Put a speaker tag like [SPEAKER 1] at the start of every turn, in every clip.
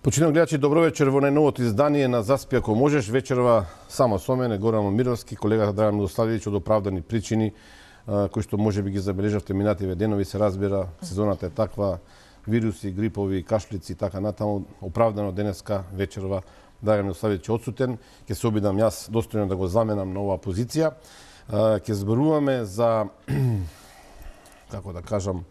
[SPEAKER 1] Почитувани гледачи, добро вечер во најновото издание на Заспи ако можеш. Вечерва само со мене, Горан Момировски, колегата Драган Милославовиќ, од оправдани причини, кои што можеби ги забележавте минативе денови, се разбира, сезоната е таква, вируси, грипови, кашлици и така натаму. Оправдано денеска вечерва Драган Милославовиќ одсутен. Ќе се обидам јас достојно да го заменам на оваа позиција. Ќе зборуваме за, како да кажам,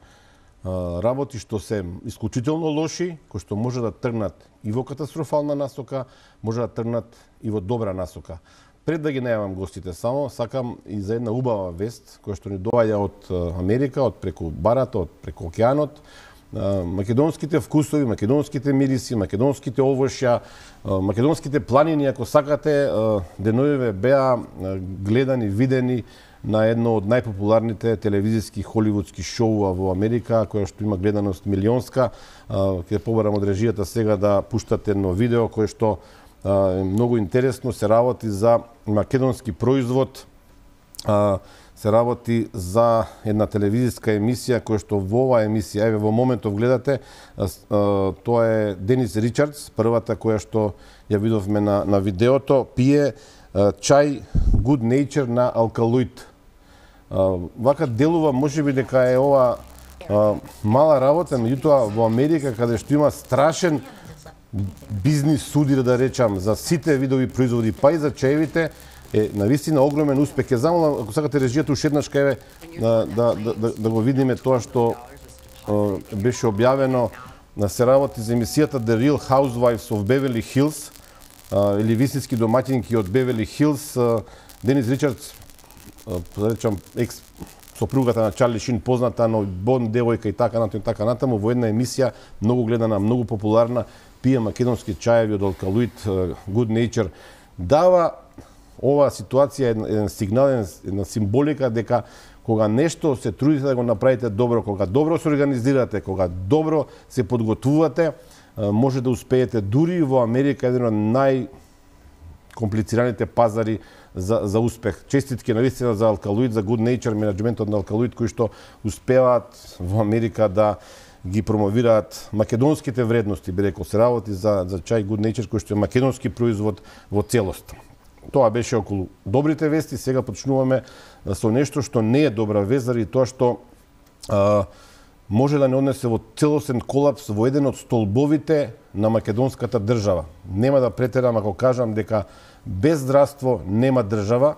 [SPEAKER 1] работи што се исклучително лоши, кои што може да тргнат и во катастрофална насока, може да тргнат и во добра насока. Пред да ги најавам гостите само, сакам и за една убава вест, која што ни доаѓа од Америка, од преку барата, од преку океанот. Македонските вкусови, македонските мириси, македонските овошја, македонските планини, ако сакате, деновиве беа гледани, видени на едно од најпопуларните телевизиски холивудски шоуа во Америка, која што има гледаност милионска. Ќе побарам од режијата сега да пуштат едно видео кое што е многу интересно, се работи за македонски производ, се работи за една телевизиска емисија која што во оваа емисија, еве во моментов гледате, тоа е Денис Ричардс, првата која што ја видовме на видеото, пие чај Good Nature на алкалоид. Вака делува можеби дека е ова мала работа, меѓутоа во Америка каде што има страшен бизнис судир, да речам, за сите видови производи, па и за чаевите, е навистина огромен успех. Ќе замолам, ако сакате режијата уште еднаш кај да го видиме тоа што беше објавено, се работи за емисијата The Real Housewives of Beverly Hills, или вистински домаќинки од Бевели Хилс. Денис Ричардс, да речам, сопругата на Чарли Шин, позната, но Бонд девојка и така натаму, во една емисија многу гледана, многу популарна, пие македонски чаеви од алкалоид, Good Nature. Дава оваа ситуација еден сигнал, една символика дека кога нешто се трудите да го направите добро, кога добро се организирате, кога добро се подготвувате, може да успеете дури во Америка, еден од најкомплицираните пазари за успех. Честитки навистина за алкалоид, за Good Nature, менеджментот на алкалоид, кои што успеваат во Америка да ги промовираат македонските вредности, би рекол, се работи за чај Good Nature, кој што е македонски производ во целост. Тоа беше околу добрите вести, сега почнуваме со нешто што не е добра вест, заради тоа што може да не однесе во целосен колапс во еден од столбовите на македонската држава. Нема да претерам ако кажам дека без здравство нема држава,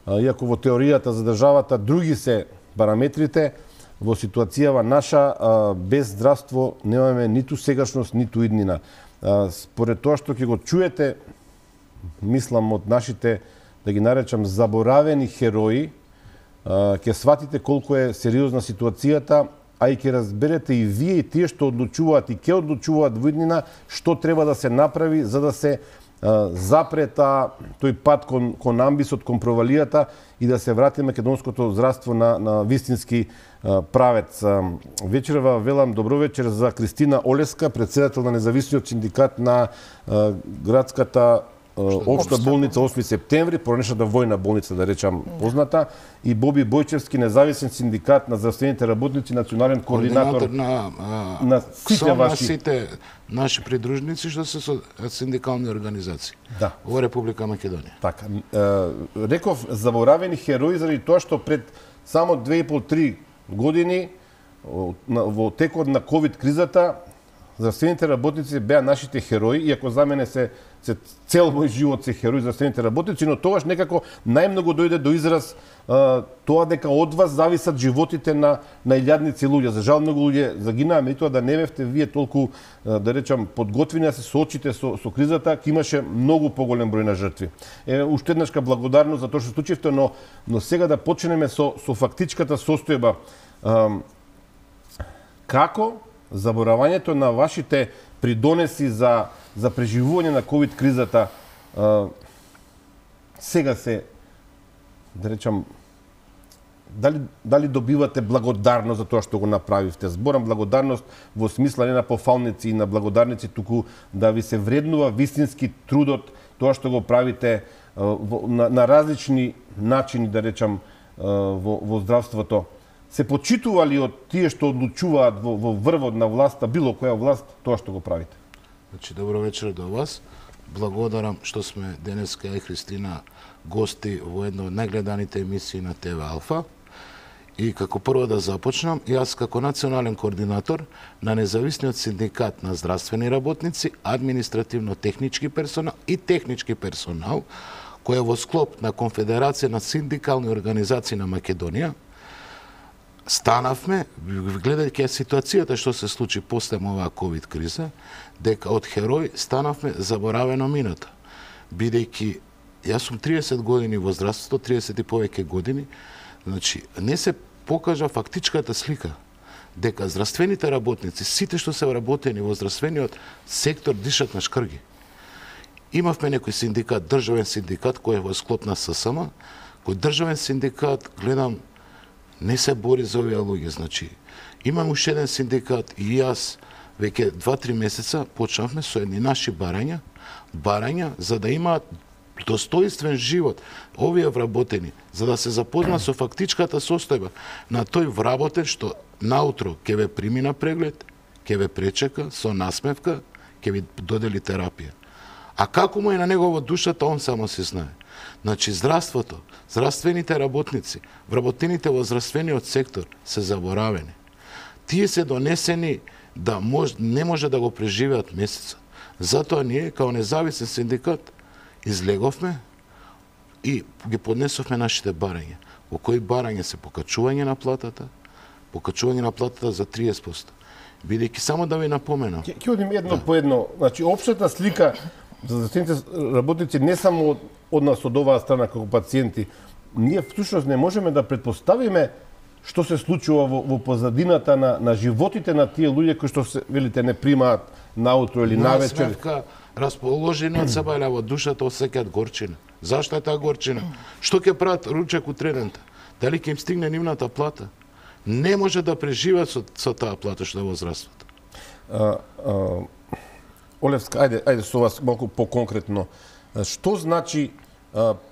[SPEAKER 1] иако во теоријата за државата други се параметрите, во ситуацијава наша без здравство немаме ниту сегашност, ниту иднина. Според тоа што ќе го чуете, мислам од нашите, да ги наречам, заборавени херои, ќе сватите колку е сериозна ситуацијата, а и ќе разберете и вие и тие што одлучуваат и ќе одлучуваат во иднина што треба да се направи за да се запрета тој пат кон амбисот, кон провалијата и да се врати македонското здравство на вистински правец. Вечерва велам добро вечер за Кристина Олеска, председател на независниот синдикат на градската Општа болница 8 септември, поранешната војна болница, да речам позната, и Боби Бојчевски, независен синдикат на здравствените работници, национален координатор на сите
[SPEAKER 2] наши придружници што се со синдикални организации во Република Македонија.
[SPEAKER 1] Така, реков заборавени херои заради тоа што пред само 2,5-3 години во текот на ковид кризата здравствените работници беа нашите херои, иако за мене се цел мој живот се херои здравствените работници, но тогаш некако најмногу дојде до израз тоа дека од вас зависат животите на илјадници луѓе. За жал многу луѓе загинаа, меѓутоа да не бевте вие толку, да речам, подготвени да се соочите со кризата, ќе имаше многу поголем број на жртви. Уште еднашка благодарност за тоа што случивте, но сега да почнеме со фактичката состојба. Како заборавањето на вашите придонеси за преживување на ковид кризата сега се, да речам, дали добивате благодарност за тоа што го направивте? Зборам благодарност во смисла не на пофалници и на благодарници, туку да ви се вреднува вистински трудот, тоа што го правите на различни начини, да речам, во здравството. Се почитува ли од тие што одлучуваат во врвот на власта, било која власт, тоа што го правите?
[SPEAKER 2] Значи, добро вечер до вас. Благодарам што сме денеска и Христина гости во една од најгледаните емисии на ТВ Алфа. И како прво да започнам, јас како национален координатор на независниот синдикат на здравствени работници, административно-технички персонал и технички персонал, кој е во склоп на Конфедерација на синдикални организации на Македонија, станавме, гледајќи ситуацијата што се случи после оваа ковид криза, дека од херој станавме заборавено минато. Бидејќи јас сум 30 години во здравството, 30 и повеќе години, значи не се покажа фактичката слика дека здравствените работници, сите што се вработени во здравствениот сектор дишат на шкрги. Имавме некој синдикат, државен синдикат кој е во склоп на ССМ, кој државен синдикат, гледам, не се бори за овие луѓе. Значи, имам уште еден синдикат и јас веќе 2-3 месеца почнавме со едни наши барања за да имаат достоинствен живот овие вработени, за да се запозна со фактичката состојба на тој вработен што наутро ќе ве прими на преглед, ќе ве пречека со насмевка, ќе ви додели терапија. А како му е на негово душата, он само се знае. Значи, здравството, здравствените работници, вработените во здравствениот сектор се заборавени. Тие се донесени да не може да го преживеат месецот. Затоа ние, као независен синдикат, излеговме и ги поднесовме нашите барања. Во кои барања се покачување на платата за 30%. Бидејќи само да ви напоменам.
[SPEAKER 1] Ќе одим едно по едно. Значи, општата слика за здравствените работници не само од нас, од оваа страна како пациенти, ние всушност не можеме да предпоставиме што се случува во позадината на животите на тие луѓе кои што се, велите, не примаат наутро или навечер.
[SPEAKER 2] Насмевка, расположени од себе во душата осеќаат горчина. Зашто е таа горчина? Што ќе прават ручек утредента? Дали ќе им стигне нивната плата? Не може да преживеат со таа плата што е во здравството.
[SPEAKER 1] Олевска, ајде со вас малку поконкретно. Што значи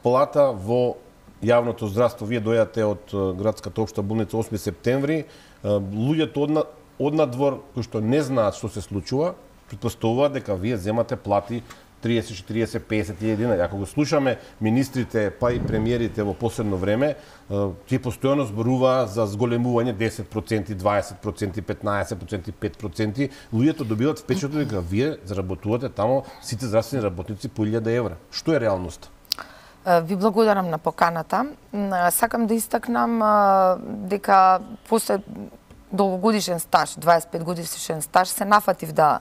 [SPEAKER 1] плата во јавното здравство? Вие дојдете од градската општа болница 8 септември. Луѓето од надвор кои што не знаат што се случува, предпоставуваат дека вие земате плати 30, 40, 50 едина. Ако го слушаме министрите, па и премиерите во последно време, тие постојано зборуваа за зголемување 10%, 20%, 15%, 5%. Луѓето добиваат впечаток дека вие заработувате тамо сите здравствени работници по 1000 евра. Што е реалноста?
[SPEAKER 3] Ви благодарам на поканата. Сакам да истакнам дека после долгогодишен стаж, 25 годишен стаж, се нафатив да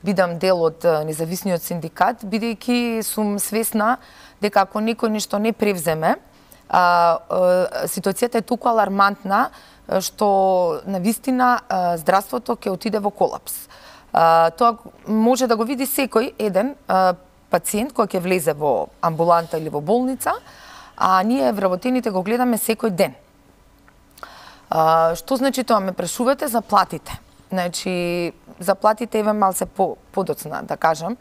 [SPEAKER 3] бидам дел од независниот синдикат, бидејќи сум свесна дека ако некој ништо не превземе, ситуацијата е толку алармантна што навистина здравството ќе отиде во колапс. Тоа може да го види секој еден пациент кој ќе влезе во амбуланта или во болница, а ние вработените го гледаме секој ден. Што значи тоа? Ме прашувате за платите. Значи, за платите еве малце подоцна, да кажам.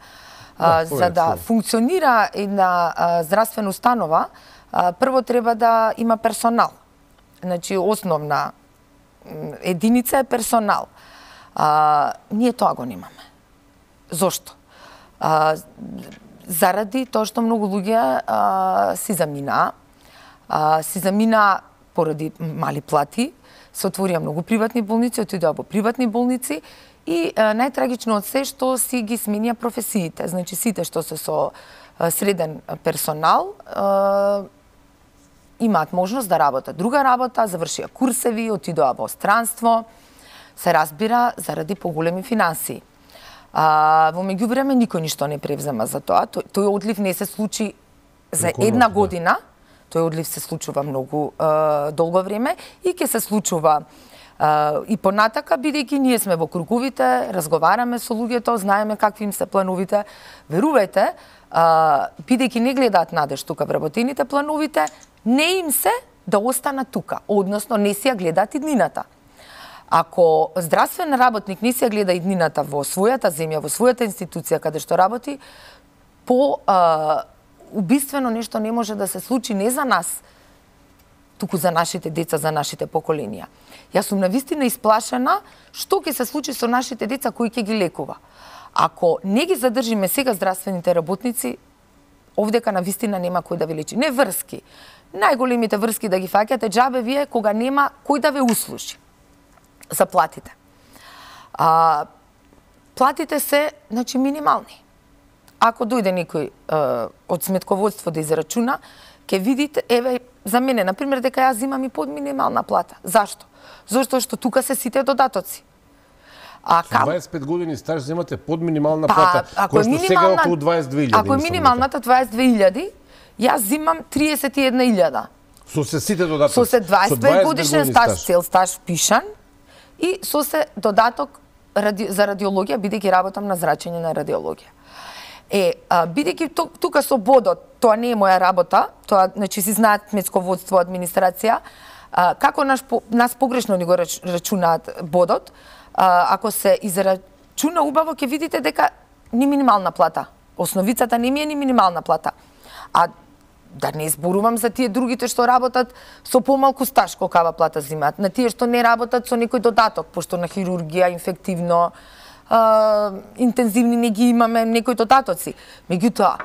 [SPEAKER 3] За да функционира една здравствена установа, прво треба да има персонал. Значи, основна единица е персонал. Ние тоа го немаме. Зошто? Заради тоа што многу луѓе си замина поради мали плати, се отворија многу приватни болници, отидоа во приватни болници и најтрагично од се што си ги сменија професиите. Значи сите што се со среден персонал имаат можност да работат друга работа, завршија курсеви, отидоа во странство, се разбира заради поголеми финансии. Во меѓувреме никој ништо не превзема за тоа. Тој одлив не се случи за една година. Тој одлив се случува многу долго време и ќе се случува и понатака, бидејќи ние сме во круговите, разговараме со луѓето, знаеме какви им се плановите. Верувајте, бидејќи не гледаат надеж тука вработените плановите, не им се да останат тука, односно не си ја гледаат иднината. Ако здравствен работник не си ја гледа иднината во својата земја, во својата институција каде што работи, убиствено нешто не може да се случи не за нас, туку за нашите деца, за нашите поколенија. Јас сум навистина исплашена што ќе се случи со нашите деца кои ќе ги лекува. ако не ги задржиме сега здравствените работници, овдека на вистина нема кој да ви лечи. Не врски. Најголемите врски да ги фаќате џабе вие кога нема кој да ве услужи за платите. Платите се, значи, минимални. Ако дојде некој од сметководство да израчуна, ќе видите, еве, за мене, например, дека јас зимам и под минимална плата. Зашто? Зашто што тука се сите додатоци.
[SPEAKER 1] Со 25 години стаж земате под минимална плата, која што сега околу 22.000.
[SPEAKER 3] Ако е минималната 22.000, јас зимам 31.000.
[SPEAKER 1] Со се сите додатоци.
[SPEAKER 3] Со се 25 годишен стаж, цел стаж впишан и со се додаток за радиологија, бидејќи работам на зрачење на радиологија. Бидејќи тука со бодот, тоа не е моја работа, тоа, значи, си знаат сметсководство, администрација, како нас погрешно ни го рачунаат бодот, ако се израчуна убаво, ќе видите дека ни минимална плата. Основицата не ми е ни минимална плата. А да не зборувам за тие другите што работат со помалку стаж, колкава плата зимаат. На тие што не работат со некој додаток, пошто на хирургија, инфективно, интензивни не ги имаме некои додатоци. Меѓутоа,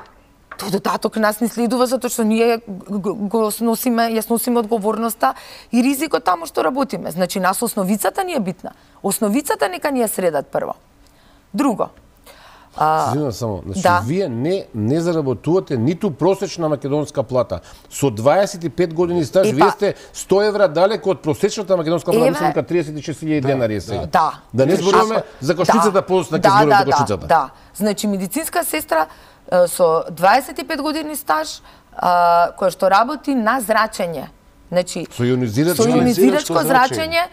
[SPEAKER 3] тој додаток нас не следува затоа што ние го сносиме, ја сносиме одговорноста и ризикот таму што работиме. Значи, нас основицата ни е битна. Основицата нека ни ја средат прво. Друго.
[SPEAKER 1] Извинувам само, значи, вие не заработувате ниту просечна македонска плата. Со 25 години стаж, вие сте 100 евра далеко од просечната македонска плата, мислам дека 36.000 денари е сега. Да не зборуваме за Кошницата, после ќе зборуваме за Кошницата.
[SPEAKER 3] Да. Значи, медицинска сестра со 25 години стаж, која што работи на зрачење. Значи,
[SPEAKER 1] со ионизирачко
[SPEAKER 3] зрачење,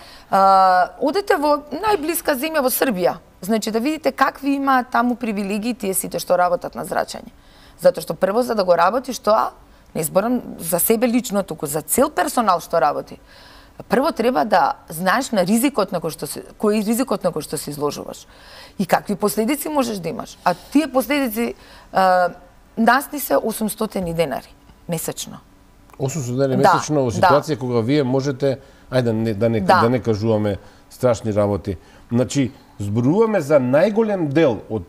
[SPEAKER 3] одете во најблиска земја во Србија. Значи, да видите какви имаат таму привилегии тие сите што работат на зрачење. Затоа што прво за да го работиш тоа, не зборам за себе лично, туку за цел персонал што работи. Прво треба да знаеш на ризикот на кој е ризикот на кој што се изложуваш и какви последици можеш да имаш. А тие последици нас ни се 800 денари месечно.
[SPEAKER 1] 800 денари месечно во ситуација кога вие можете, ајде да не кажуваме страшни работи. Значи, зборуваме за најголем дел од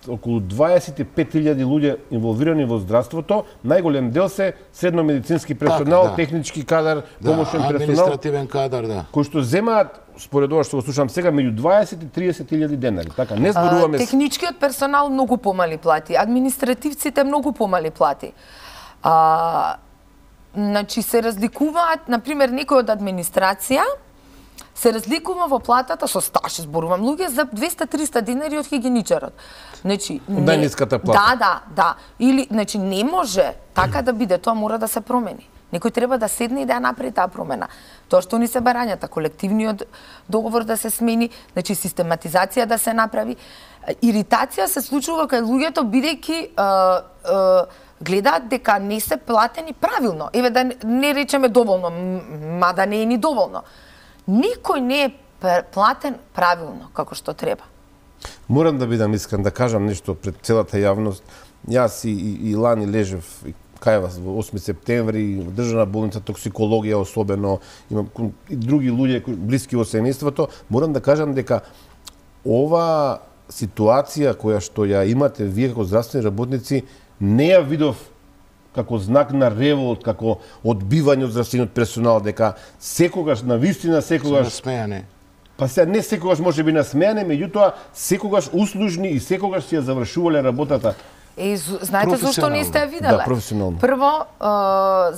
[SPEAKER 1] околу 25.000 луѓе инволвирани во здравството, најголем дел се средномедицински персонал, технички кадар, помошен персонал,
[SPEAKER 2] административен кадар,
[SPEAKER 1] кои што земаат, според ова што го слушам сега, меѓу 20 и 30.000 денари. Така, не зборуваме...
[SPEAKER 3] Техничкиот персонал многу помали плати, административците многу помали плати. Значи, се разликуваат, например, некој од администрација, се разликува во платата со стаж, зборувам, луѓе за 200-300 денари од хигиеничарот. Значи,
[SPEAKER 1] најниската плата.
[SPEAKER 3] Да. Или, значи, не може така да биде, тоа мора да се промени. Некој треба да седне и да ја направи таа промена. Тоа што ни се барањата, колективниот договор да се смени, значи систематизација да се направи. Иритација се случува кај луѓето бидејќи гледаат дека не се платени правилно. Еве да не речеме доволно, мада не е ни доволно. Никој не е платен правилно, како што треба.
[SPEAKER 1] Морам да бидам искрен, да кажам нешто пред целата јавност. Јас и лани лежев кај вас во 8 септември, во државна болница, токсикологија особено, имам и други луѓе блиски во семејството. Морам да кажам дека ова ситуација која што ја имате вие како здравствени работници, не ја видов како знак на револт, како одбивање од здравствениот персонал, дека секогаш, навистина секогаш...
[SPEAKER 2] Насмејане.
[SPEAKER 1] Па сега не секогаш може би насмејане, меѓутоа секогаш услужни и секогаш си ја завршувале работата.
[SPEAKER 3] Знаете зашто не сте ја виделе?
[SPEAKER 1] Да, професионално.
[SPEAKER 3] Прво,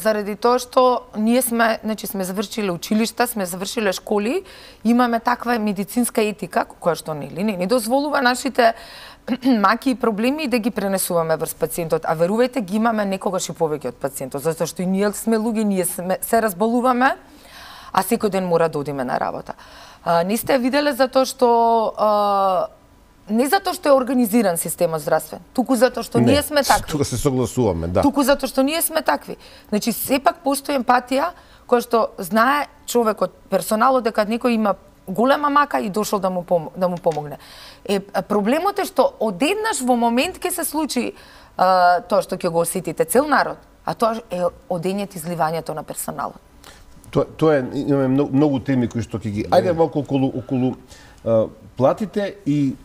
[SPEAKER 3] заради тоа што ние сме завршиле училишта, сме завршиле школи, имаме таква медицинска етика, која што не дозволува нашите маки и проблеми да ги пренесуваме врз пациентот, а верувајте ги имаме некогаш и повеќе од пациентот, затоа што и ние сме луѓе, ние се разболуваме, а секој ден мора да одиме на работа. Не сте виделе затоа што не затоа што е организиран системот здравствен, туку затоа што ние сме такви.
[SPEAKER 1] Тука се согласуваме, да.
[SPEAKER 3] Туку затоа што ние сме такви. Значи сепак постои емпатија која што знае човекот, персоналот дека некој има голема мака и дошол да му помогне. Проблемот е што одеднаш во момент ќе се случи тоа што ќе го осетите цел народ, а тоа е одењето изливањето на персоналот.
[SPEAKER 1] Тоа е, имаме многу теми кои што ќе ги... Ајде малку околу платите и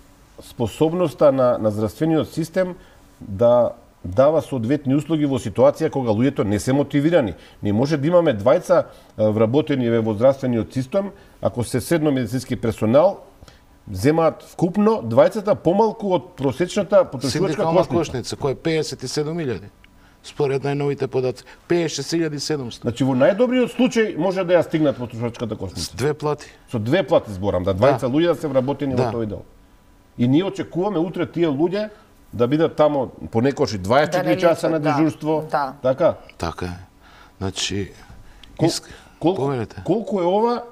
[SPEAKER 1] способноста на здравствениот систем да дава соодветни услуги во ситуација кога луѓето не се мотивирани. Не може да имаме двајца вработени во здравствениот систем, ако се седно медицински персонал, земаат вкупно двајцата помалку од просечната потрошувачка кошница,
[SPEAKER 2] која е 57.000. Според најновите податоци, 56.700.
[SPEAKER 1] Значи во најдобриот случај може да ја стигнат потрошувачката кошница.
[SPEAKER 2] С 2 плати.
[SPEAKER 1] Со 2 плати зборам, да двајца луѓе да се вработени во тој дел. И ние очекуваме утре тие луѓе да бидат тамо понекогаш 24 часа на дежурство. Така?
[SPEAKER 2] Така е. Значи,
[SPEAKER 1] колку е ова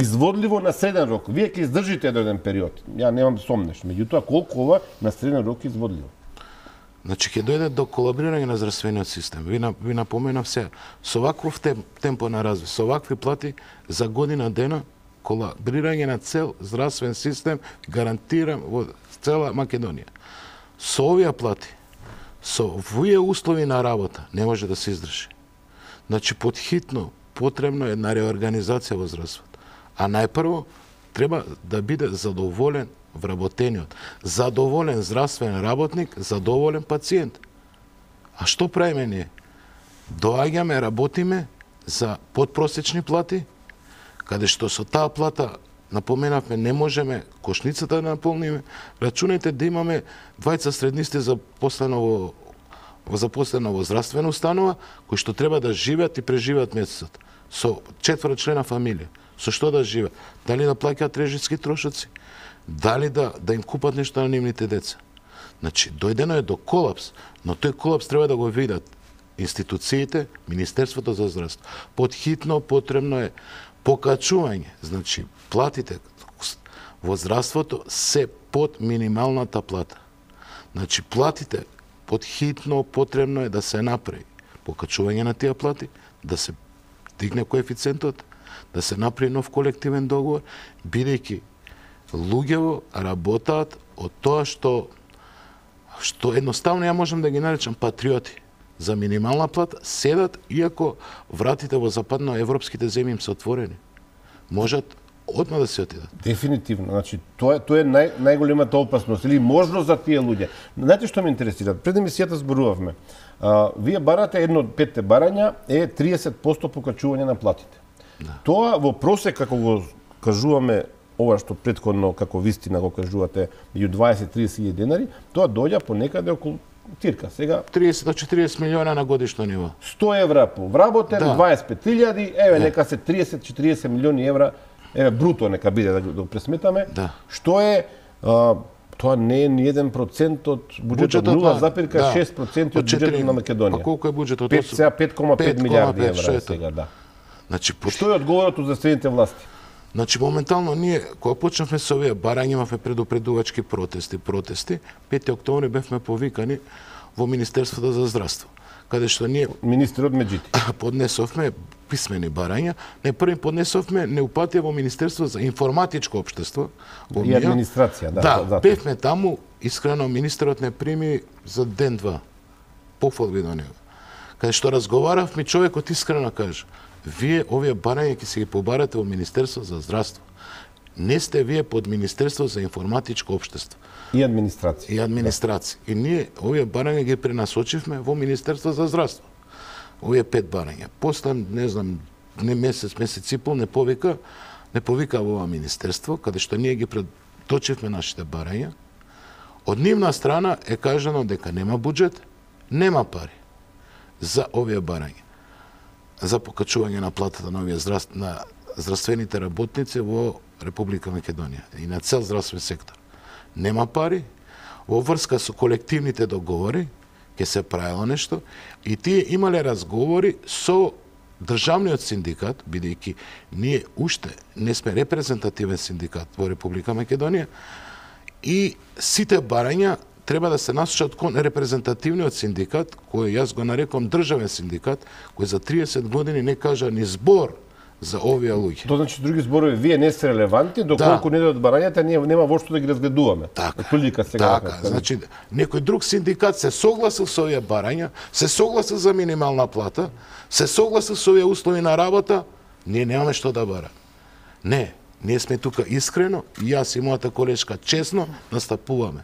[SPEAKER 1] изводливо на среден рок? Вие ќе издржите еден период. Ја немам сомнеш. Меѓутоа, колку ова на среден рок е изводливо?
[SPEAKER 2] Значи, ќе дојде до колабрирање на здравствениот систем. Ви напоменав сега, со ваков темпо на развој, со вакви плати, за година дена, колабрирање на цел здравствен систем, гарантирам во цела Македонија. Со овие плати, со овие услови на работа, не може да се издржи. Значи, подхитно потребно е една реорганизација во здравството. А најпрво, треба да биде задоволен вработениот, задоволен здравствен работник, задоволен пациент. А што правиме ние? Доаѓаме, работиме за подпросечни плати, каде што со таа плата, напоменавме, не можеме кошницата да наполниме. Рачунајте да имаме двајца среднисти запослено во здравствена установа, кои што треба да живеат и преживеат месецот. Со 4члена фамилија. Со што да живеат? Дали да плаќаат режиски трошоци? Дали да им купат нешто на нивните деца? Значи, дојдено е до колапс, но тој колапс треба да го видат институциите, Министерството за здравство. Подхитно потребно е покачување. Значи, платите во здравството се под минималната плата. Значи, платите подхитно потребно е да се направи покачување на тие плати, да се дигне коефициентот, да се направи нов колективен договор, бидејќи луѓево работаат од тоа што едноставно ја можам да ги наречам патриоти. За минимална плата седат, иако вратите во западноевропските земји им се отворени. Можат одма да се отидат.
[SPEAKER 1] Дефинитивно. Значи, тоа е најголемата опасност или можност за тие луѓе. Знаете што ме интересира? Пред емисијата зборувавме. Вие барате, едно од 5 барања е 30% покачување на платите. Тоа во просек, како го кажуваме, ова што претходно, како вистина го кажувате, меѓу 20-30 денари, тоа доаѓа по некаде околу тирка. Сега
[SPEAKER 2] 30 до 40 милиона на годишно ниво.
[SPEAKER 1] 100 евра по вработен, 25.000, еве нека се 30-40 милиони евра, еве бруто нека биде да го пресметаме. Што е тоа не е ни 1% од буџетот, 0,6% од буџетот на Македонија.
[SPEAKER 2] А колку е буџетот?
[SPEAKER 1] 5,5 милиарди евра сега, да.
[SPEAKER 2] Значи,
[SPEAKER 1] што е одговорот од здравствените власти?
[SPEAKER 2] Значи, моментално ние, кога почнавме со овие барања, имавме предупредувачки протести. 5 октомври бевме повикани во Министерството за здравство, каде што ние
[SPEAKER 1] министерот Меджити
[SPEAKER 2] поднесовме писмени барања. Не први поднесовме неупатија во Министерство за информатичко општество
[SPEAKER 1] и администрација,
[SPEAKER 2] да. Бевме таму, искрено министерот не прими за ден-два. Пофалби до него. Каде што разговаравме, човекот искрено кажа: вие овие барања ќе се ги побарате во Министерство за здравство. Не сте вие под Министерство за информатичко општество.
[SPEAKER 1] И администрација.
[SPEAKER 2] И ние овие барања ги пренасочивме во Министерство за здравство. Овие 5 барања. После, не знам, месец и пол не повика во ова министерство, каде што ние ги предочивме нашите барања. Од нивна страна е кажано дека нема буџет, нема пари за овие барања, за покачување на платата на овие здравствените работници во Република Македонија и на цел здравствен сектор. Нема пари, во врска со колективните договори, ќе се правило нешто, и тие имале разговори со државниот синдикат, бидејќи ние уште не сме репрезентативен синдикат во Република Македонија, и сите барања треба да се насочат кон репрезентативниот синдикат, кој јас го нарекам државен синдикат, кој за 30 години не кажа ни збор за овие луѓе.
[SPEAKER 1] Тоа значи, други зборови, вие не сте релевантни, доколку не дојдат барањата, ние нема вошто да ги разгледуваме.
[SPEAKER 2] Така, значи, некој друг синдикат се согласил со овие барања, се согласил за минимална плата, се согласил со овие услови на работа, ние немаме што да бараме. Не, Ние сме тука искрено, и јас и мојата колешка честно настапуваме.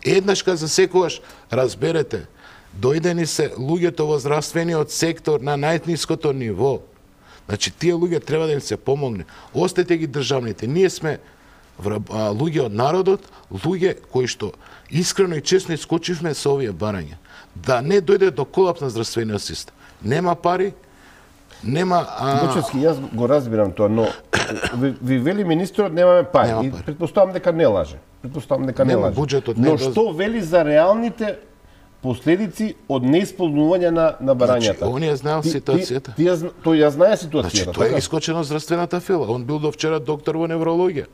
[SPEAKER 2] Еднашка за секогаш разберете, дојдени се луѓето во здравствениот сектор на најниското ниво. Значи, тие луѓе треба да им се помогне. Остете ги државните. Ние сме луѓе од народот, луѓе кои што искрено и честно искочивме со овие барања. Да не дојде до колапс на здравствениот систем. Нема пари, нема...
[SPEAKER 1] Дочевски, јас го разбирам тоа, но ви вели министерот немаме пари.
[SPEAKER 2] Нема
[SPEAKER 1] И
[SPEAKER 2] пари.
[SPEAKER 1] предпоставам дека не лаже. Предпоставам дека не
[SPEAKER 2] Нема,
[SPEAKER 1] лаже.
[SPEAKER 2] буџетот не
[SPEAKER 1] Но
[SPEAKER 2] е
[SPEAKER 1] што вели за реалните последици од неисполнување на барањата?
[SPEAKER 2] Значи, он ја знаел ситуацијата.
[SPEAKER 1] Тој ја знае
[SPEAKER 2] Значи,
[SPEAKER 1] ситуацијата.
[SPEAKER 2] тоа е
[SPEAKER 1] така?
[SPEAKER 2] искочено од здравствената фила. Он бил до вчера доктор во неврологија.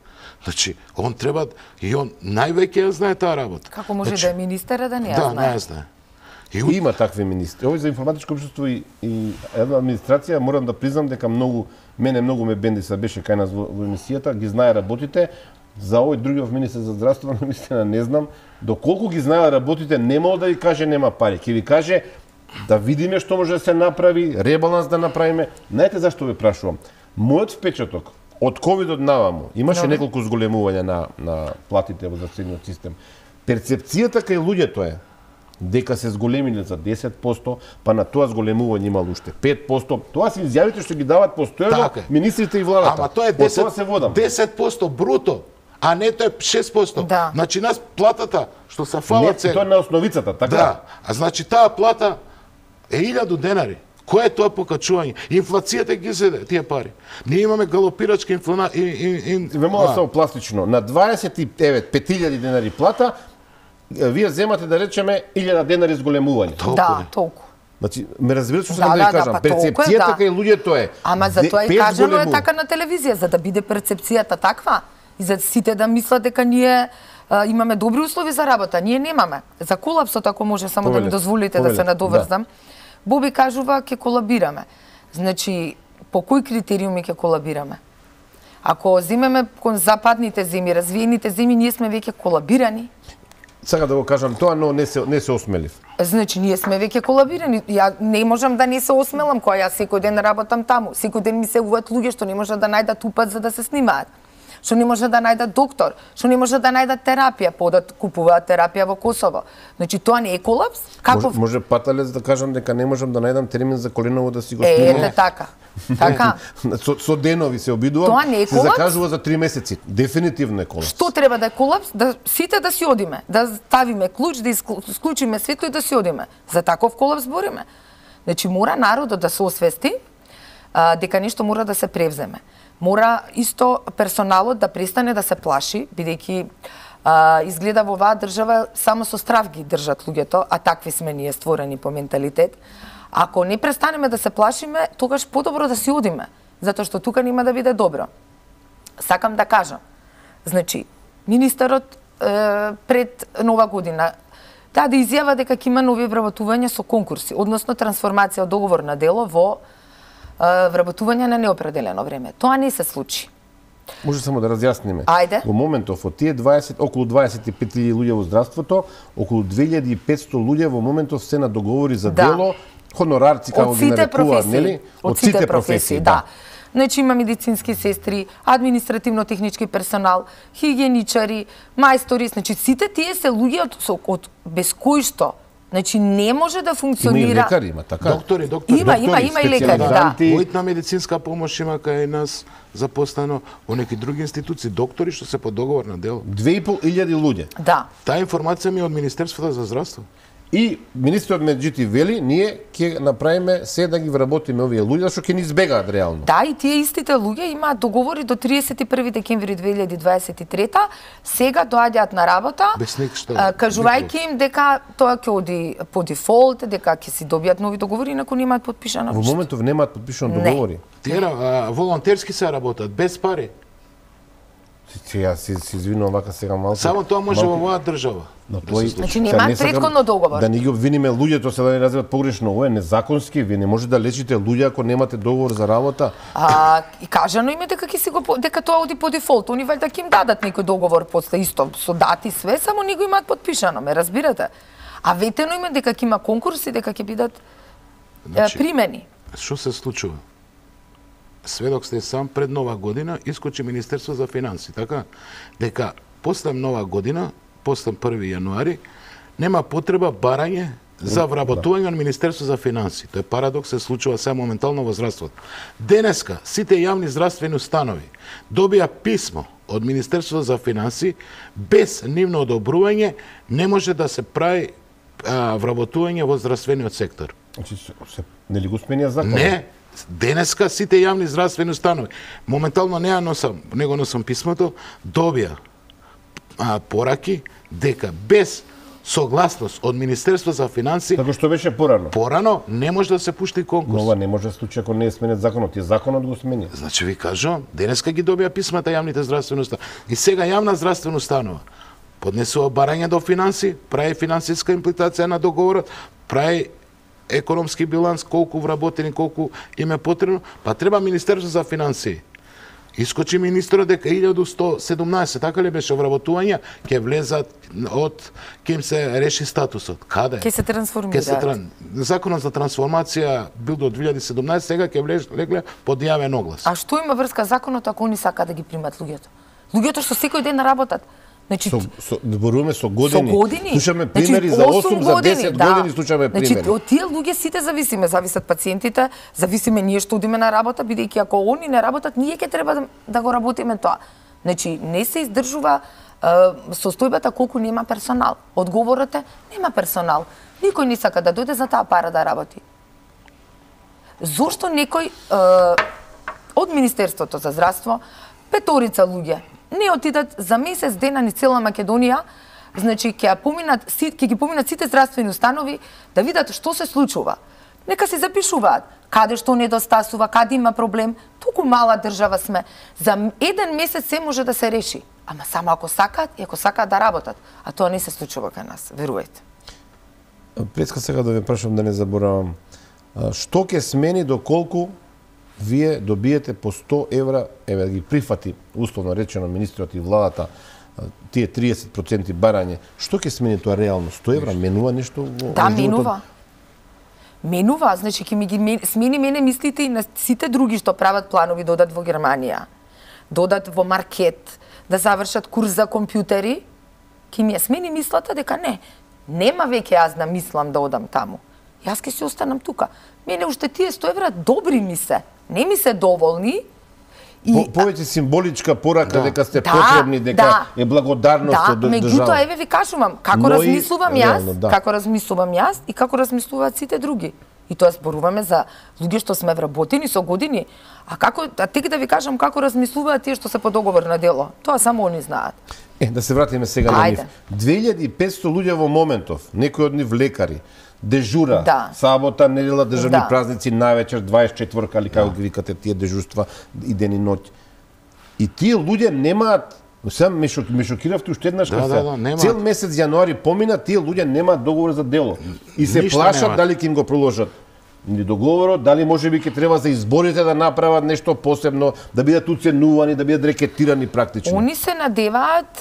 [SPEAKER 2] Значи, он треба, и он највеќе ја знае таа работа.
[SPEAKER 3] Како може
[SPEAKER 2] Значи,
[SPEAKER 3] да е министер да не ја
[SPEAKER 2] Да,
[SPEAKER 3] знае?
[SPEAKER 2] не ја знае. И
[SPEAKER 1] Има такви министри. Овој за информатичко општество и една администрација, морам да признам дека мене многу ме бенди се беше кај нас во емисијата, ги знае работите. За овој другиот министер за здравство, наистина не знам, доколку ги знае работите, немало да ви каже нема пари. Ќе ви каже да видиме што може да се направи, ребаланс да направиме. Знаете зашто ве прашувам? Мојот впечаток од ковидот наваму имаше неколку зголемувања на платите во здравствениот систем. Перцепцијата кај луѓето е дека се зголемиле за 10%, па на тоа зголемување имало уште 5%. Тоа се изјавите што ги дават постојано
[SPEAKER 2] Така е.
[SPEAKER 1] министрите и владата.
[SPEAKER 2] Ама тоа е
[SPEAKER 1] Од тоа се водам.
[SPEAKER 2] 10% бруто, а не тоа е 6%.
[SPEAKER 3] Да.
[SPEAKER 2] Значи нас платата што се
[SPEAKER 1] Не,
[SPEAKER 2] фала
[SPEAKER 1] тоа е на основицата, така?
[SPEAKER 2] Да, а значи таа плата е 1000 денари. Кој е тоа покачување? Инфлацијата ги зеде тие пари. Ние имаме галопирачка
[SPEAKER 1] Ве молам само пластично, на 50.000 денари плата, вие земате да речеме 1000 денари зголемување.
[SPEAKER 3] Да, толку.
[SPEAKER 1] Значи, ме разбирате што
[SPEAKER 3] Да,
[SPEAKER 1] сакам да ви
[SPEAKER 3] да,
[SPEAKER 1] кажам?
[SPEAKER 3] па толку е,
[SPEAKER 1] Перцепцијата
[SPEAKER 3] да.
[SPEAKER 1] кај луѓето е.
[SPEAKER 3] Ама за тоа и
[SPEAKER 1] без
[SPEAKER 3] кажано е
[SPEAKER 1] зголемување.
[SPEAKER 3] така на телевизија, за да биде перцепцијата таква и за сите да мислат дека ние имаме добри услови за работа. Ние немаме. За колапсот, ако може само да ми
[SPEAKER 1] Повелете,
[SPEAKER 3] дозволите да се
[SPEAKER 1] повелете,
[SPEAKER 3] надоврзам, Боби кажува ќе колабираме. Значи, по кои критериуми ќе колабираме? Ако земеме кон западните земји, развиените земји, ние сме веќе колабирани.
[SPEAKER 1] Сакам да го кажам тоа, но не се осмелив.
[SPEAKER 3] Значи, ние сме веќе колабирани. Ја не можам да не се осмелам, која јас секој ден работам таму. Секој ден ми се уват луѓе што не можат да најдат упат за да се снимаат. Што не може да најдат доктор, што не може да најдат терапија, подат купуваат терапија во Косово. Значи, тоа не е колапс? Каков?
[SPEAKER 1] Може паталец да кажам дека не можам да најдам термин за коленово да си го
[SPEAKER 3] Ете
[SPEAKER 1] снимам.
[SPEAKER 3] така. Така.
[SPEAKER 1] Со денови се обидувам.
[SPEAKER 3] Тоа не е
[SPEAKER 1] се
[SPEAKER 3] колапс?
[SPEAKER 1] закажува за 3 месеци. Дефинитивно е колапс.
[SPEAKER 3] Што треба да е колапс? Да сите да си одиме, да ставиме клуч, да исклучиме светло и да си одиме. За таков колапс збориме. Значи, мора народот да се освести дека нешто мора да се превземе. Мора исто персоналот да престане да се плаши, бидејќи изгледа во оваа држава само со страв ги држат луѓето, а такви сме ние створени по менталитет. Ако не престанеме да се плашиме, тогаш подобро да си одиме, затоа што тука нема да биде добро. Сакам да кажам, значи, министерот пред нова година да изјава дека ќе има нови вработувања со конкурси, односно трансформација од договор на дело во вработување на неопределено време. Тоа не се случи.
[SPEAKER 1] Може само да разјасниме.
[SPEAKER 3] Ајде.
[SPEAKER 1] Во моментов од тие околу 25.000 луѓе во здравството, околу 2500 луѓе во моментов се на договори за
[SPEAKER 3] Да.
[SPEAKER 1] дело, хонорарци како ги нарекуваат, нели?
[SPEAKER 3] Од сите професии, да. Значи има медицински сестри, административно-технички персонал, хигиеничари, мајстори, значи сите тие се луѓе од без кои што, значи не може да
[SPEAKER 1] Има и
[SPEAKER 3] функционира.
[SPEAKER 1] лекари, има така.
[SPEAKER 2] доктори.
[SPEAKER 3] Има и лекари, да.
[SPEAKER 1] специјализанти.
[SPEAKER 2] Мојна медицинска помош има кај нас запослено во неки други институции, доктори што се по договор на дело.
[SPEAKER 1] 2500 луѓе.
[SPEAKER 3] Да.
[SPEAKER 2] Таа информација ми е од Министерството за здравство.
[SPEAKER 1] И министерот Меджити вели, ние ќе направиме се да ги вработиме овие луѓе, зашто ќе ни избегаат реално.
[SPEAKER 3] Да, и тие истите луѓе имаат договори до 31 декември 2023. Сега доаѓаат на работа,
[SPEAKER 2] Без ништо.
[SPEAKER 3] кажувајќи им дека тоа ќе оди по дефолт, дека ќе си добијат нови договори, инаку немаат подпишано.
[SPEAKER 1] Во моментов немаат подпишано
[SPEAKER 3] Не.
[SPEAKER 1] договори.
[SPEAKER 2] Тие волонтерски се работат, без пари.
[SPEAKER 1] Ја се извинувам вака сега малку.
[SPEAKER 2] Само тоа може во
[SPEAKER 1] малку-
[SPEAKER 2] оваа држава.
[SPEAKER 1] Но
[SPEAKER 2] да
[SPEAKER 1] тој,
[SPEAKER 2] се случи.
[SPEAKER 3] Значи,
[SPEAKER 1] сега
[SPEAKER 3] немаат
[SPEAKER 1] не сакам
[SPEAKER 3] претходно договор.
[SPEAKER 1] Да не ги обвиниме луѓето, се да не разберат погрешно. Ова е незаконски, вие не може да лечите луѓе ако немате договор за работа.
[SPEAKER 3] И кажано им е дека ќе си го дека тоа оди по дефолт. Они валјда ќе им дадат некој договор после исто со дати све, само не го имаат подпишано, ме разбирате? А ветено им е дека ќе има конкурси, дека ќе бидат
[SPEAKER 2] Значи,
[SPEAKER 3] примени.
[SPEAKER 2] Што се случува? сведок сте сам, пред Нова година искочи Министерство за финанси, така? Дека после Нова година, после 1 јануари, нема потреба барање за вработување на Министерство за финанси. Тој парадокс се случува сега моментално во здравството. Денеска сите јавни здравствени установи добија писмо од Министерство за финанси, без нивно одобрување не може да се прави вработување во здравствениот сектор.
[SPEAKER 1] Значи, нели го сменија закон?
[SPEAKER 2] Не, денеска сите јавни здравствени установи, моментално не го носам писмото, добија пораки дека без согласност од Министерство за финанси,
[SPEAKER 1] Како што беше порано.
[SPEAKER 2] порано не може да се пушти конкурс.
[SPEAKER 1] Но ова не може да случи ако не е сменет законот. И законот го смени.
[SPEAKER 2] Значи ви кажувам, денеска ги добија писмата јавните здравствени установи. И сега јавна здравствена установа поднесува барање до финанси, прави финансиска имплитација на договорот, прави економски биланс, колку вработени, колку им е потребно, па треба Министерство за финанси. Искочи министрот дека 1117, така ли беше, вработувања, ќе влезат ќе им се реши статусот. Каде?
[SPEAKER 3] Ќе се трансформираат.
[SPEAKER 2] Законот за трансформација бил до 2017, сега ќе легле под јавен оглас.
[SPEAKER 3] А што има врска законот ако они сакаат да ги примат луѓето? Луѓето што секој ден работат. Значи,
[SPEAKER 1] Зборуваме со години.
[SPEAKER 3] Со години.
[SPEAKER 1] Слушаме примери за 8, за 10 години слушаме примери.
[SPEAKER 3] Значи, од тие луѓе сите зависат пациентите, зависиме ние што одиме на работа, бидејќи ако они не работат, ние ќе треба да го работиме тоа. Значи, не се издржува состојбата колку нема персонал. Одговорот е, нема персонал. Никој не сака да дојде за таа пара да работи. Зошто некој од Министерството за здравство, 5 луѓе, не отидат за месец дена ни цела Македонија, значи ќе ги поминат сите здравствени установи да видат што се случува. Нека се запишуваат каде што недостасува, каде има проблем. Толку мала држава сме. За 1 месец се може да се реши. Ама само ако сакаат и ако сакаат да работат. А тоа не се случува кај нас, верувајте.
[SPEAKER 1] Преска сега да ве прашам да не заборавам. Што ќе смени доколку вие добиете по 100 евра, еве да ги прифати, условно речено, министрот и владата, тие 30% барање, што ќе смени тоа реално? 100 евра менува нешто во
[SPEAKER 3] Да, менува. Менува, значи ќе ми ги смени мене мислите и на сите други што прават планови да одат во Германија, да одат во маркет, да завршат курс за компјутери, ќе ми ја смени мислата дека нема веќе јас да мислам да одам таму. Јас ќе се останам тука. Мене уште тие 100 евра добри ми се. Не ми се доволни.
[SPEAKER 1] Повеќе символичка порака дека сте потребни, дека е благодарност од држава.
[SPEAKER 3] Меѓутоа, еве ви кажувам, како размислувам јас и како размислуваат сите други. И тоа зборуваме за луѓе што сме вработени со години. А тек да ви кажам како размислуваат тие што се по договор на дело. Тоа само они знаат.
[SPEAKER 1] Да се вратиме сега на нив. 2500 луѓе во моментов, некои од нив лекари, дежура, сабота, недела, државни празници, највечер, 24-ка, или како ги викате тие дежурства и ден и ноќ. И тие луѓе немаат, сега ме шокиравте уште еднаш, цел месец јануари помина, тие луѓе немаат договор за дело. И се плашат дали ќе им го проложат ни договорот, дали можеби ќе треба за изборите да направат нешто посебно, да бидат уценувани, да бидат рекетирани практично.
[SPEAKER 3] Они се надеваат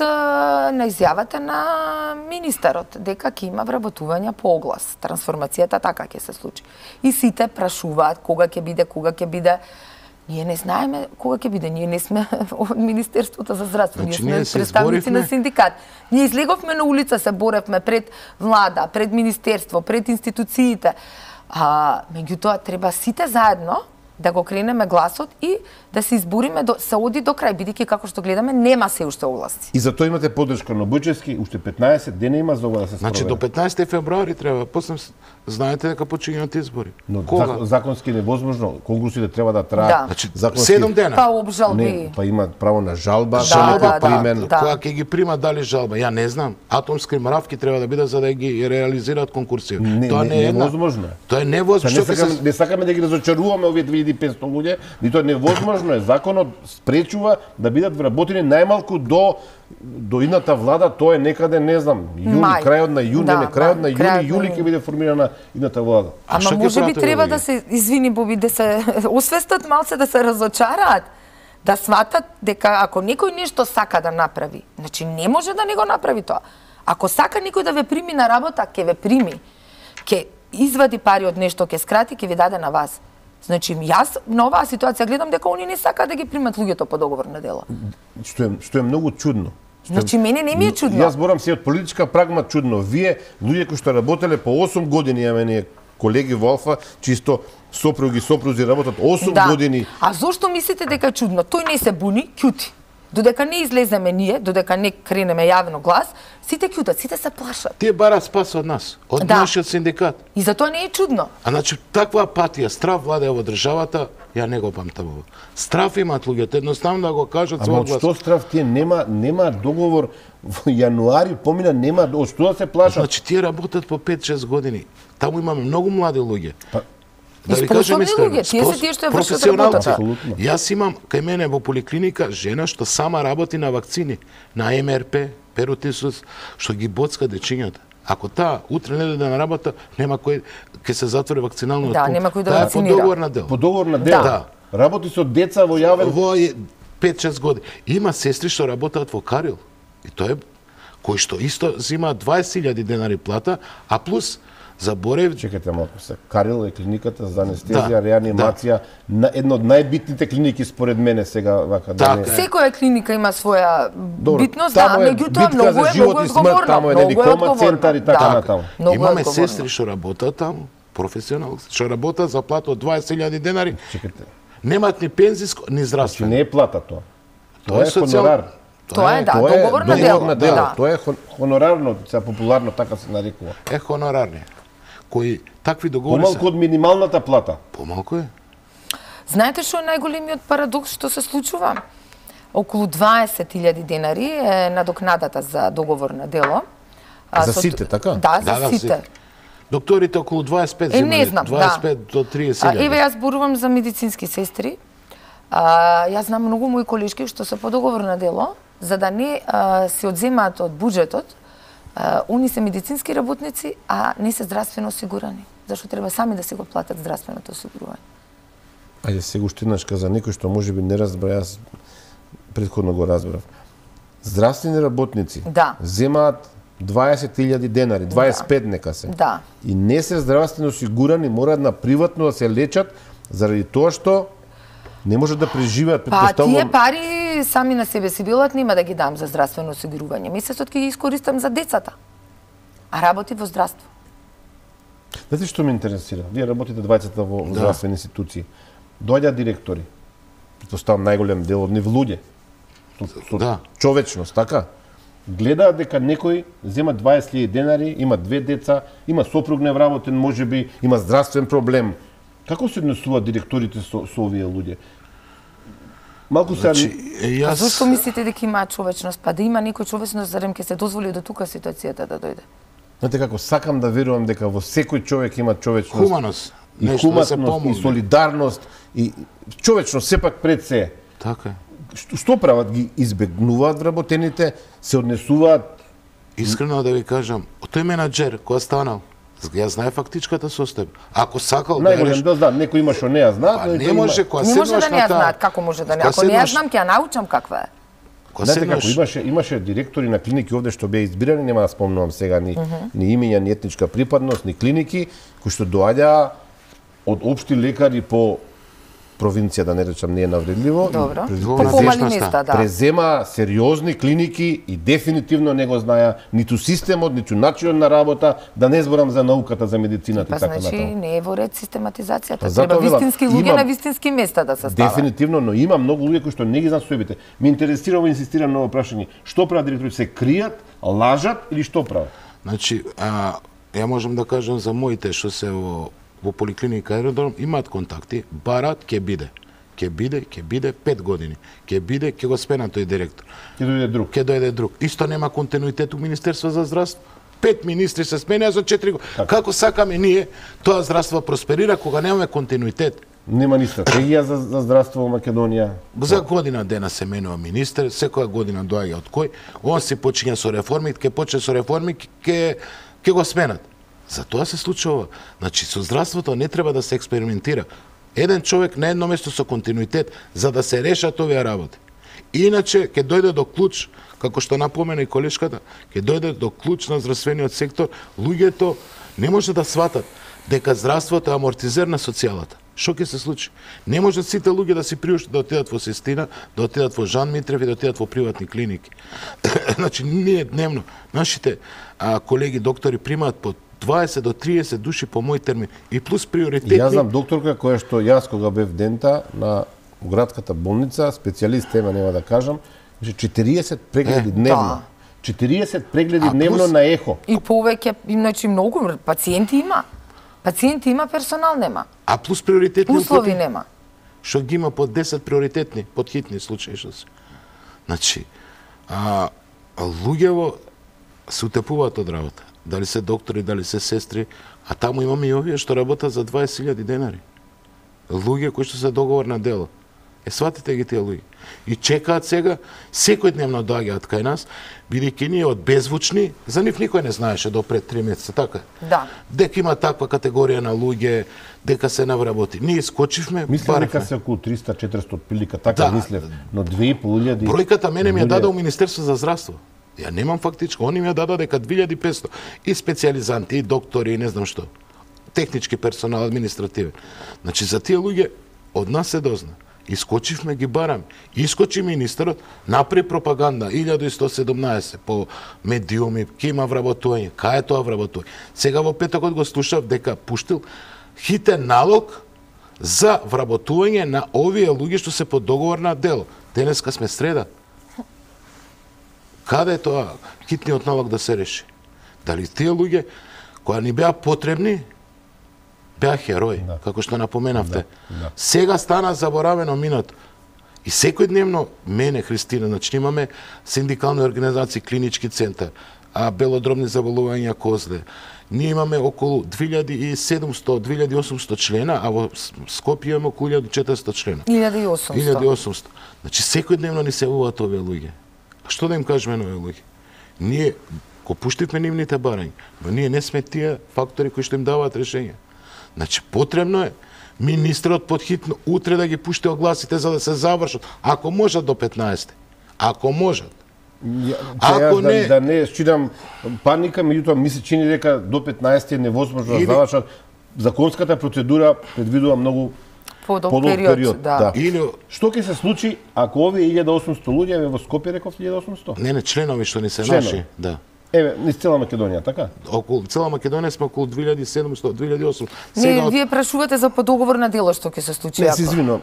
[SPEAKER 3] на изјавата на министерот дека ќе има вработување по оглас. Трансформацијата така ќе се случи. И сите прашуваат кога ќе биде. Ние не знаеме кога ќе биде. Ние не сме од Министерството за здравство, ние сме представници на синдикат. Ние излеговме на улица, се боревме пред влада, пред министерство, пред институциите. Меѓутоа треба сите заедно да го кренеме гласот и да се избориме се оди до крај, бидејќи како што гледаме нема се уште огласи.
[SPEAKER 1] И за тоа имате поддршка на Буџевски, уште 15 дена има за ова да се спроведе.
[SPEAKER 2] Значи до 15 февруари треба, после знаете дека почињаат избори.
[SPEAKER 1] Но законски невозможно, конкурсите треба да траат.
[SPEAKER 2] Значи 7 дена.
[SPEAKER 3] Па обжалби.
[SPEAKER 1] Па имаат право на жалба,
[SPEAKER 2] кога ќе ги примат дали жалба, ја не знам. Атомски мравки треба да бидат за да ги реализираат конкурсија. Тоа не е
[SPEAKER 1] невозможно.
[SPEAKER 2] Тоа е невозможно.
[SPEAKER 1] Не сакаме да ги разочаруваме овие 2500 луѓе, ни тоа е невозможно е. Законот спречува да бидат вработени најмалку до идната влада, тоа е некаде, не знам, јули, крајот на јуни, крајот на јули ќе биде формирана идната влада.
[SPEAKER 3] Ама можеби треба да се извини Боби, да се освестат малце, да се разочараат, да сватат дека ако некој нешто сака да направи, значи не може да не го направи тоа. Ако сака некој да ве прими на работа, ќе ве прими. Ќе извади пари од нешто, ќе скрати, ќе ви даде на вас. Значи, јас на оваа ситуација гледам дека они не сакаат да ги примат луѓето по договор на дело.
[SPEAKER 1] Што е многу чудно.
[SPEAKER 3] Значи, мене не ми е чудно.
[SPEAKER 1] Јас борам се од политичка прагма чудно. Вие, луѓе кои што работеле по 8 години, ја мене колеги во Алфа, чисто сопрузи работат 8 години.
[SPEAKER 3] А зошто мислите дека е чудно? Тој не се буни, ќути. Додека не излеземе ние, додека не кренеме јавно глас, сите ќутат, сите се плашат.
[SPEAKER 2] Тие барат спас од нас, од нашиот синдикат.
[SPEAKER 3] И затоа не е чудно.
[SPEAKER 2] А значи таква апатија, страв владее во државата, ја не го памтам ова. Страв имаат луѓето, едноставно да го кажат свој глас.
[SPEAKER 1] Ама што страв тие нема договор во јануари, помина нема, од што да се плашат?
[SPEAKER 2] Значи тие работат по 5-6 години. Таму имаме многу млади луѓе.
[SPEAKER 3] Да ви кажем искрено, тие се тие што ја вршат работата.
[SPEAKER 2] Јас имам кај мене во поликлиника жена што сама работи на вакцини, на МРП, перотисус, што ги боцка дечињата. Ако таа утре не дојде на работа, нема кој ќе се затвори вакциналниот пункт.
[SPEAKER 3] Да, нема кој да
[SPEAKER 2] Таа
[SPEAKER 3] вакцинира.
[SPEAKER 2] е по договор на дело.
[SPEAKER 1] По договор на дело.
[SPEAKER 2] Да.
[SPEAKER 1] Работи со деца во јавен.
[SPEAKER 2] Во 5-6 години. Има сестри што работат во Карил. И тоа е кој што исто зема 20.000 денари плата, а плюс заборев.
[SPEAKER 1] Чекате малку се. Карил е клиниката за анестезија, реанимација, една од најбитните клиники според мене сега вака да не.
[SPEAKER 3] Секоја клиника има своја битност, меѓутоа
[SPEAKER 1] многу е одговорно. Таму е кома центар и така натаму.
[SPEAKER 2] Имаме сестри што работат таму, професионални, што работат за плата од 20.000 денари.
[SPEAKER 1] Чекате.
[SPEAKER 2] Немаат ни пензиско, ни здравствено.
[SPEAKER 1] Не е плата тоа. Тоа е хонорар.
[SPEAKER 3] Тоа е договор на дело.
[SPEAKER 1] Тоа е хонорарно, се популарно така се нарекува.
[SPEAKER 2] Е хонорарни. Кои такви договори
[SPEAKER 1] помалку од минималната плата.
[SPEAKER 2] Помалку е.
[SPEAKER 3] Знаете што е најголемиот парадокс што се случува? Околу 20.000 денари е надокнадата за договор на дело.
[SPEAKER 1] За сите, така?
[SPEAKER 3] Да, за сите.
[SPEAKER 2] Докторите околу 25 земали,
[SPEAKER 3] не знам,
[SPEAKER 2] 25 до 30.000.
[SPEAKER 3] Еве јас зборувам за медицински сестри. Јас знам многу мои колешки што се по договор на дело, за да не се одземаат од буџетот. Они се медицински работници, а не се здравствено осигурани. Зашто треба сами да си го платат здравственото осигурување.
[SPEAKER 1] Ајде сега уште еднаш за некој што можеби не разбра, јас претходно го разбрав. Здравствени работници земаат 20.000 денари, 25 нека се.
[SPEAKER 3] Да.
[SPEAKER 1] И не се здравствено осигурани, мораат на приватно да се лечат заради тоа што не можат да преживеат,
[SPEAKER 3] предпоставувам. Тие пари сами на себе си билат, нема да ги дам за здравствено осигурување. Месецот ќе ги искористам за децата. А работи во здравство.
[SPEAKER 1] Знаете што ме интересира? Вие работите двајцата во здравствени институции. Доаѓаат директори. Предпоставам најголем дел од нив луѓе. Со човечност, така? Гледаат дека некој зема 20.000 денари, има 2 деца, има сопруг невработен, можеби, има здравствен проблем. Како се однесуваат директорите со овие луѓе? Малку се...
[SPEAKER 3] Зошто мислите дека има човечност? Па да има некој човечност, зарем ќе се дозволи до тука ситуацијата да дојде?
[SPEAKER 1] Знаете како, сакам да верувам дека во секој човек има човечност.
[SPEAKER 2] Хуманост.
[SPEAKER 1] И хуманост, и солидарност, и човечност сепак пред се.
[SPEAKER 2] Така е.
[SPEAKER 1] Што прават? Ги избегнуваат вработените, се однесуваат...
[SPEAKER 2] Искрено да ви кажам, тој менаџер кој станал, ја знае фактичката состојба. Ако сакал да
[SPEAKER 1] најголем да знам, некој има што не ја знаат,
[SPEAKER 2] не може кога
[SPEAKER 3] не може да не ја знаат, како може да не? Ако не ја знам, ќе ја научам каква е.
[SPEAKER 1] Знаете како, имаше директори на клиники овде што беа избирани, нема да спомнувам сега ни имиња, ни етничка припадност, ни клиники, кои што доаѓаа од општи лекари по провинција, да не речам, не е навредливо.
[SPEAKER 3] Добро. По помали места, да.
[SPEAKER 1] Презема сериозни клиники и дефинитивно не го знаја ниту системот, ниту начинот на работа, да не зборам за науката, за медицината и така натаму.
[SPEAKER 3] Значи не е во ред систематизацијата. Треба вистински луѓе на вистински места да се стават.
[SPEAKER 1] Дефинитивно, но има многу луѓе кои што не ги знаат сојбите. Ме интересира, инсистирам на ова прашање. Што прават директорите? Се кријат, лажат или што прават?
[SPEAKER 2] Значи, ја можам да кажам за моите што се во поликлиника Аеродром, имаат контакти, барат, ќе биде 5 години. Ќе биде, ќе го спена тој директор. Ќе дојде друг. Исто нема континуитет у Министерство за здравство. 5 министри се сменија за 4 години. Како сакаме ние тоа здравство просперира кога немаме континуитет?
[SPEAKER 1] Нема ни стратегија за здравство во Македонија.
[SPEAKER 2] За година дена се менува министер, секоја година доаѓа од кој, он се почиња со реформи, ќе почне со реформи, ќе го сменат. За тоа се случува. Значи, со здравството не треба да се експериментира. Еден човек на едно место со континуитет, за да се решат овие работи. Иначе, ќе дојде до клуч, како што напомена и колешката, ќе дојде до клуч на здравствениот сектор, луѓето не може да сватат дека здравството е амортизер на социјалата. Што ќе се случи? Не можат сите луѓе да си приуштат да отидат во Систина, да отидат во Жан Митрев и да отидат во приватни клиники. Значи, ние дневно, нашите колеги доктори примаат по 20 до 30 души по мој термин и плюс приоритетни.
[SPEAKER 1] Јас знам докторка која што јас кога бев дента на градската болница, специјалист тема нема да кажам, 40 прегледи дневно. 40 прегледи дневно на ехо.
[SPEAKER 3] И повеќе, иначе многу пациенти има. Пациенти има, персонал нема.
[SPEAKER 2] А плюс приоритетни
[SPEAKER 3] услови нема.
[SPEAKER 2] Што ги има по 10 приоритетни, под хитни случаи што се. Значи, луѓево се утепуваат од работа. Дали се доктори, дали се сестри, а таму имаме и овие што работат за 20.000 денари. Луѓе кои што се договор на дело. Сватите ги тие луѓе. И чекаат сега, секој дневно доаѓаат кај нас, бидејќи ние од беззвучни, за нив никој не знаеше до пред 3 месеца, така?
[SPEAKER 3] Да.
[SPEAKER 2] Дека има таква категорија на луѓе, дека се навработи. Ние скочивме,
[SPEAKER 1] мислам дека се околу 300-400 отприлика, така мислев, но 2.500.
[SPEAKER 2] Бројката мене ми ја даде Министерство за здравство. Ја немам фактичко, они ми ја даде дека 2500 и специјализанти, и доктори, и не знам што. Технички персонал, административен. Значи за тие луѓе од нас се дозна. Искочивме, ги бараме. Искочи министерот, направи пропаганда 1117 по медиуми, ке има вработување, кај е тоа вработување. Сега во петокот го слушав дека пуштил хитен налог за вработување на овие луѓе што се под договор на дело. Денеска сме среда. Каде е тоа хитниот налог да се реши? Дали тие луѓе кои ни беа потребни, беа херои, како што напоменавте. Сега стана заборавено минато. И секој дневно, мене, Христина, значи имаме синдикални организации, клинички центар, белодробни заболувања козле. Ние имаме околу 2700-2800 члена, а во Скопје имаме околу 1400 члена. 1800. Значи секој дневно ни се јавуваат овие луѓе. А што да им кажеме на овие луѓе? Ние го пуштивме нивните барања, но ние не сме тие фактори кои што им даваат решење. Значи, потребно е министрот подхитно утре да ги пушти огласите за да се завршат. Ако можат до 15. Ако можат.
[SPEAKER 1] Ако не... Да не считам паника, меѓутоа ми се чини дека до 15 е невозможно да завршат. Законската процедура предвидува многу подолг период. Да. Што ќе се случи ако овие 1800 луѓе во Скопје реков 1800?
[SPEAKER 2] Не, членови што ни се наши, да.
[SPEAKER 1] Еве, низ цела Македонија, така?
[SPEAKER 2] Околу цела Македонија сме околу 2700, 2800.
[SPEAKER 3] Не, вие прашувате за подоговор на дело што ќе се случи ако.
[SPEAKER 1] Не, се извинувам,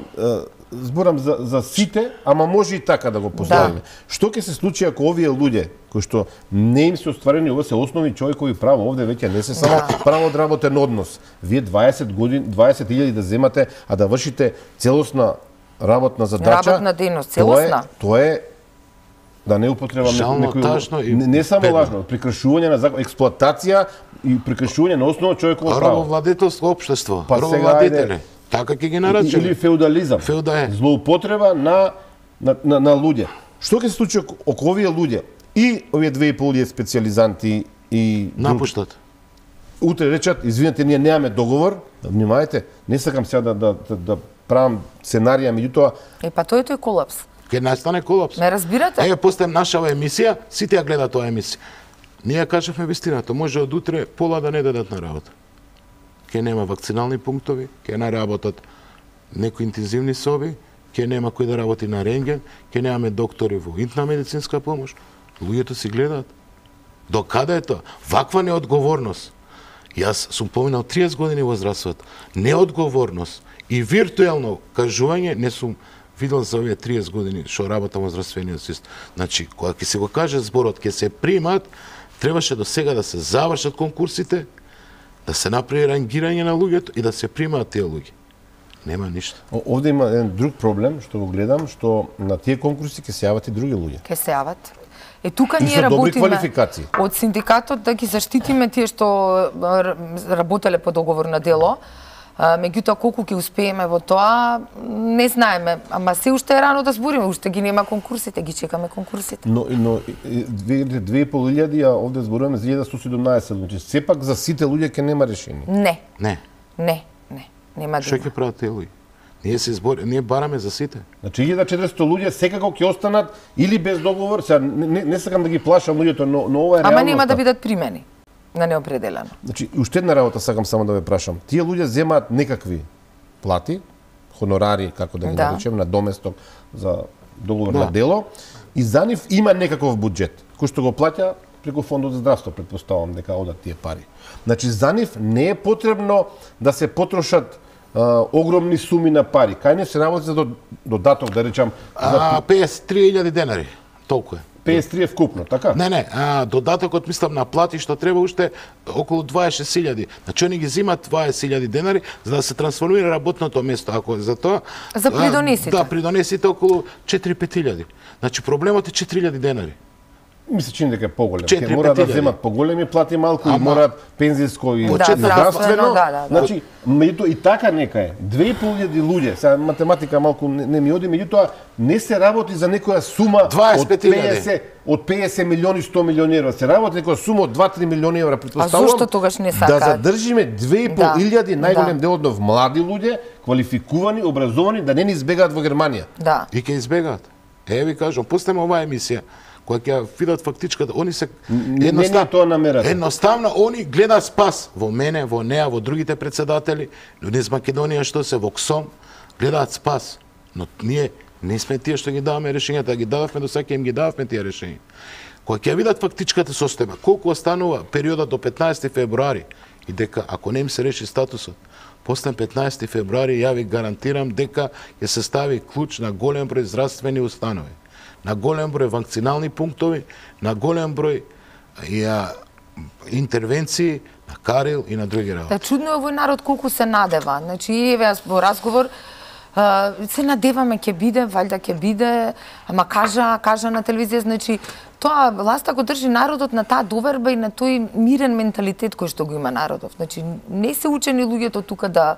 [SPEAKER 1] зборам за сите, ама може и така да го поставиме. Што ќе се случи ако овие луѓе кои што не им се остварени, ова се основни човекови права, овде веќе не се само право од работен однос. Вие 20.000 да земате, а да вршите целосна работна задача.
[SPEAKER 3] Работна дејност, целосна.
[SPEAKER 1] Тоа е да не употребам некој не само лажно, прекршување на закон, експлоатација и прекршување на основно човеково право.
[SPEAKER 2] Робовладетелско општество, робовладетели. Така ќе ги наречеме.
[SPEAKER 1] Или феудализам. Злоупотреба на луѓе. Што ќе се случи ако овие луѓе и овие 2.500 специјализанти и
[SPEAKER 2] напуштат?
[SPEAKER 1] Утре речат, извинете, ние немаме договор, внимајте, не сакам сега да правам сценарија, меѓутоа
[SPEAKER 3] па тој е колапс.
[SPEAKER 2] Ке настане колапс.
[SPEAKER 3] Не разбирате?
[SPEAKER 2] Еве поставам нашава емисија, сите ја гледаат оваа емисија. Ние кажавме вистината, може од утре пола да не дадат на работа. Ке нема вакцинални пунктови, ке не работат некои интензивни соби, ке нема кој да работи на рентген, ке немаме доктори во интна медицинска помош. Луѓето си гледаат. До каде е тоа? Ваква неодговорност. Јас сум поминал 30 години во здравството. Неодговорност и виртуелно кажување не сум видел за овие 30 години што работам во здравствениот систем. Значи, кога ќе се го каже зборот, ќе се примат, требаше до сега да се завршат конкурсите, да се направи рангирање на луѓето и да се примаат тие луѓе. Нема ништо.
[SPEAKER 1] Овде има еден друг проблем што го гледам, што на тие конкурси ќе се јават и други луѓе.
[SPEAKER 3] Ќе се јават. Тука ние работиме од синдикатот да ги заштитиме тие што работеле по договор на дело. Меѓутоа колку ќе успееме во тоа не знаеме, ама се уште е рано да збориме, уште ги нема конкурсите, ги чекаме конкурсите.
[SPEAKER 1] Но 2.500, а овде зборуваме за 1117, значи сепак за сите луѓе ќе нема решение.
[SPEAKER 3] Не.
[SPEAKER 2] Не.
[SPEAKER 3] Нема да.
[SPEAKER 2] Што ќе прават тие луѓе? Ние бараме за сите.
[SPEAKER 1] Значи 1400 луѓе секако ќе останат или без договор, сега не сакам да ги плашам луѓето, но ова е реалноста.
[SPEAKER 3] Ама нема да бидат примени на неопределено.
[SPEAKER 1] Значи, уште една работа сакам само да ве прашам. Тие луѓе земаат некакви плати, хонорари, како да ги наречем, на доместок за договор на дело, и за нив има некаков буџет, кој што го плаќа преку фондот за здравство, претпоставувам дека одат тие пари. Значи, за нив не е потребно да се потрошат огромни суми на пари. Кај не се работи за додаток, да речам...
[SPEAKER 2] 53.000 денари, толку е.
[SPEAKER 1] 53 е вкупно, така?
[SPEAKER 2] Не, додатокот мислам на плати што треба уште околу 26.000. Значи они ги земат 20.000 денари за да се трансформира работното место, ако за тоа.
[SPEAKER 3] За придонесите.
[SPEAKER 2] Да, придонесите околу 4-5.000. Значи проблемот е 4.000 денари.
[SPEAKER 1] Ми се чини дека е поголем. Ке мора да земат поголеми плати малку и мораат пензиско и здравствено. Значи, меѓутоа и така нека е. 2.500 луѓе, сега математика малку не ми оди, меѓутоа не се работи за некоја сума од 50 милиони, 100 милиони евра. Се работи некоја сума од 2-3 милиони евра,
[SPEAKER 3] претпоставувам. А зошто тогаш не сакаат?
[SPEAKER 1] Да задржиме 2.500 најголем дел од нив млади луѓе, квалификувани, образовани, да не ни избегаат во Германија.
[SPEAKER 2] Да. И ќе избегаат. Ви кажам, пустиме оваа емисија која ќе видат фактичката, они се едноставно они гледаат спас во мене, во неа, во другите председатели, луѓе из Македонија што се во КСОМ, гледаат спас. Но ние не сме тие што ги даваме решењата, ги дававме до сега, им ги дававме тие решења. Кога ќе видат фактичката состојба, колку останува периодот до 15 февруари и дека ако не им се реши статусот, после 15 февруари ја ви гарантирам дека ќе се стави клуч на голем број здравствени установи, на голем број вакцинални пунктови, на голем број интервенции на Карил и на други работи.
[SPEAKER 3] Да, чудно е овој народ колку се надева. Значи, еве во разговор се надеваме ќе биде, валјда ќе биде, ама кажа на телевизија, значи тоа власта го држи народот на таа доверба и на тој мирен менталитет кој што го има народот. Значи не се учени луѓето тука да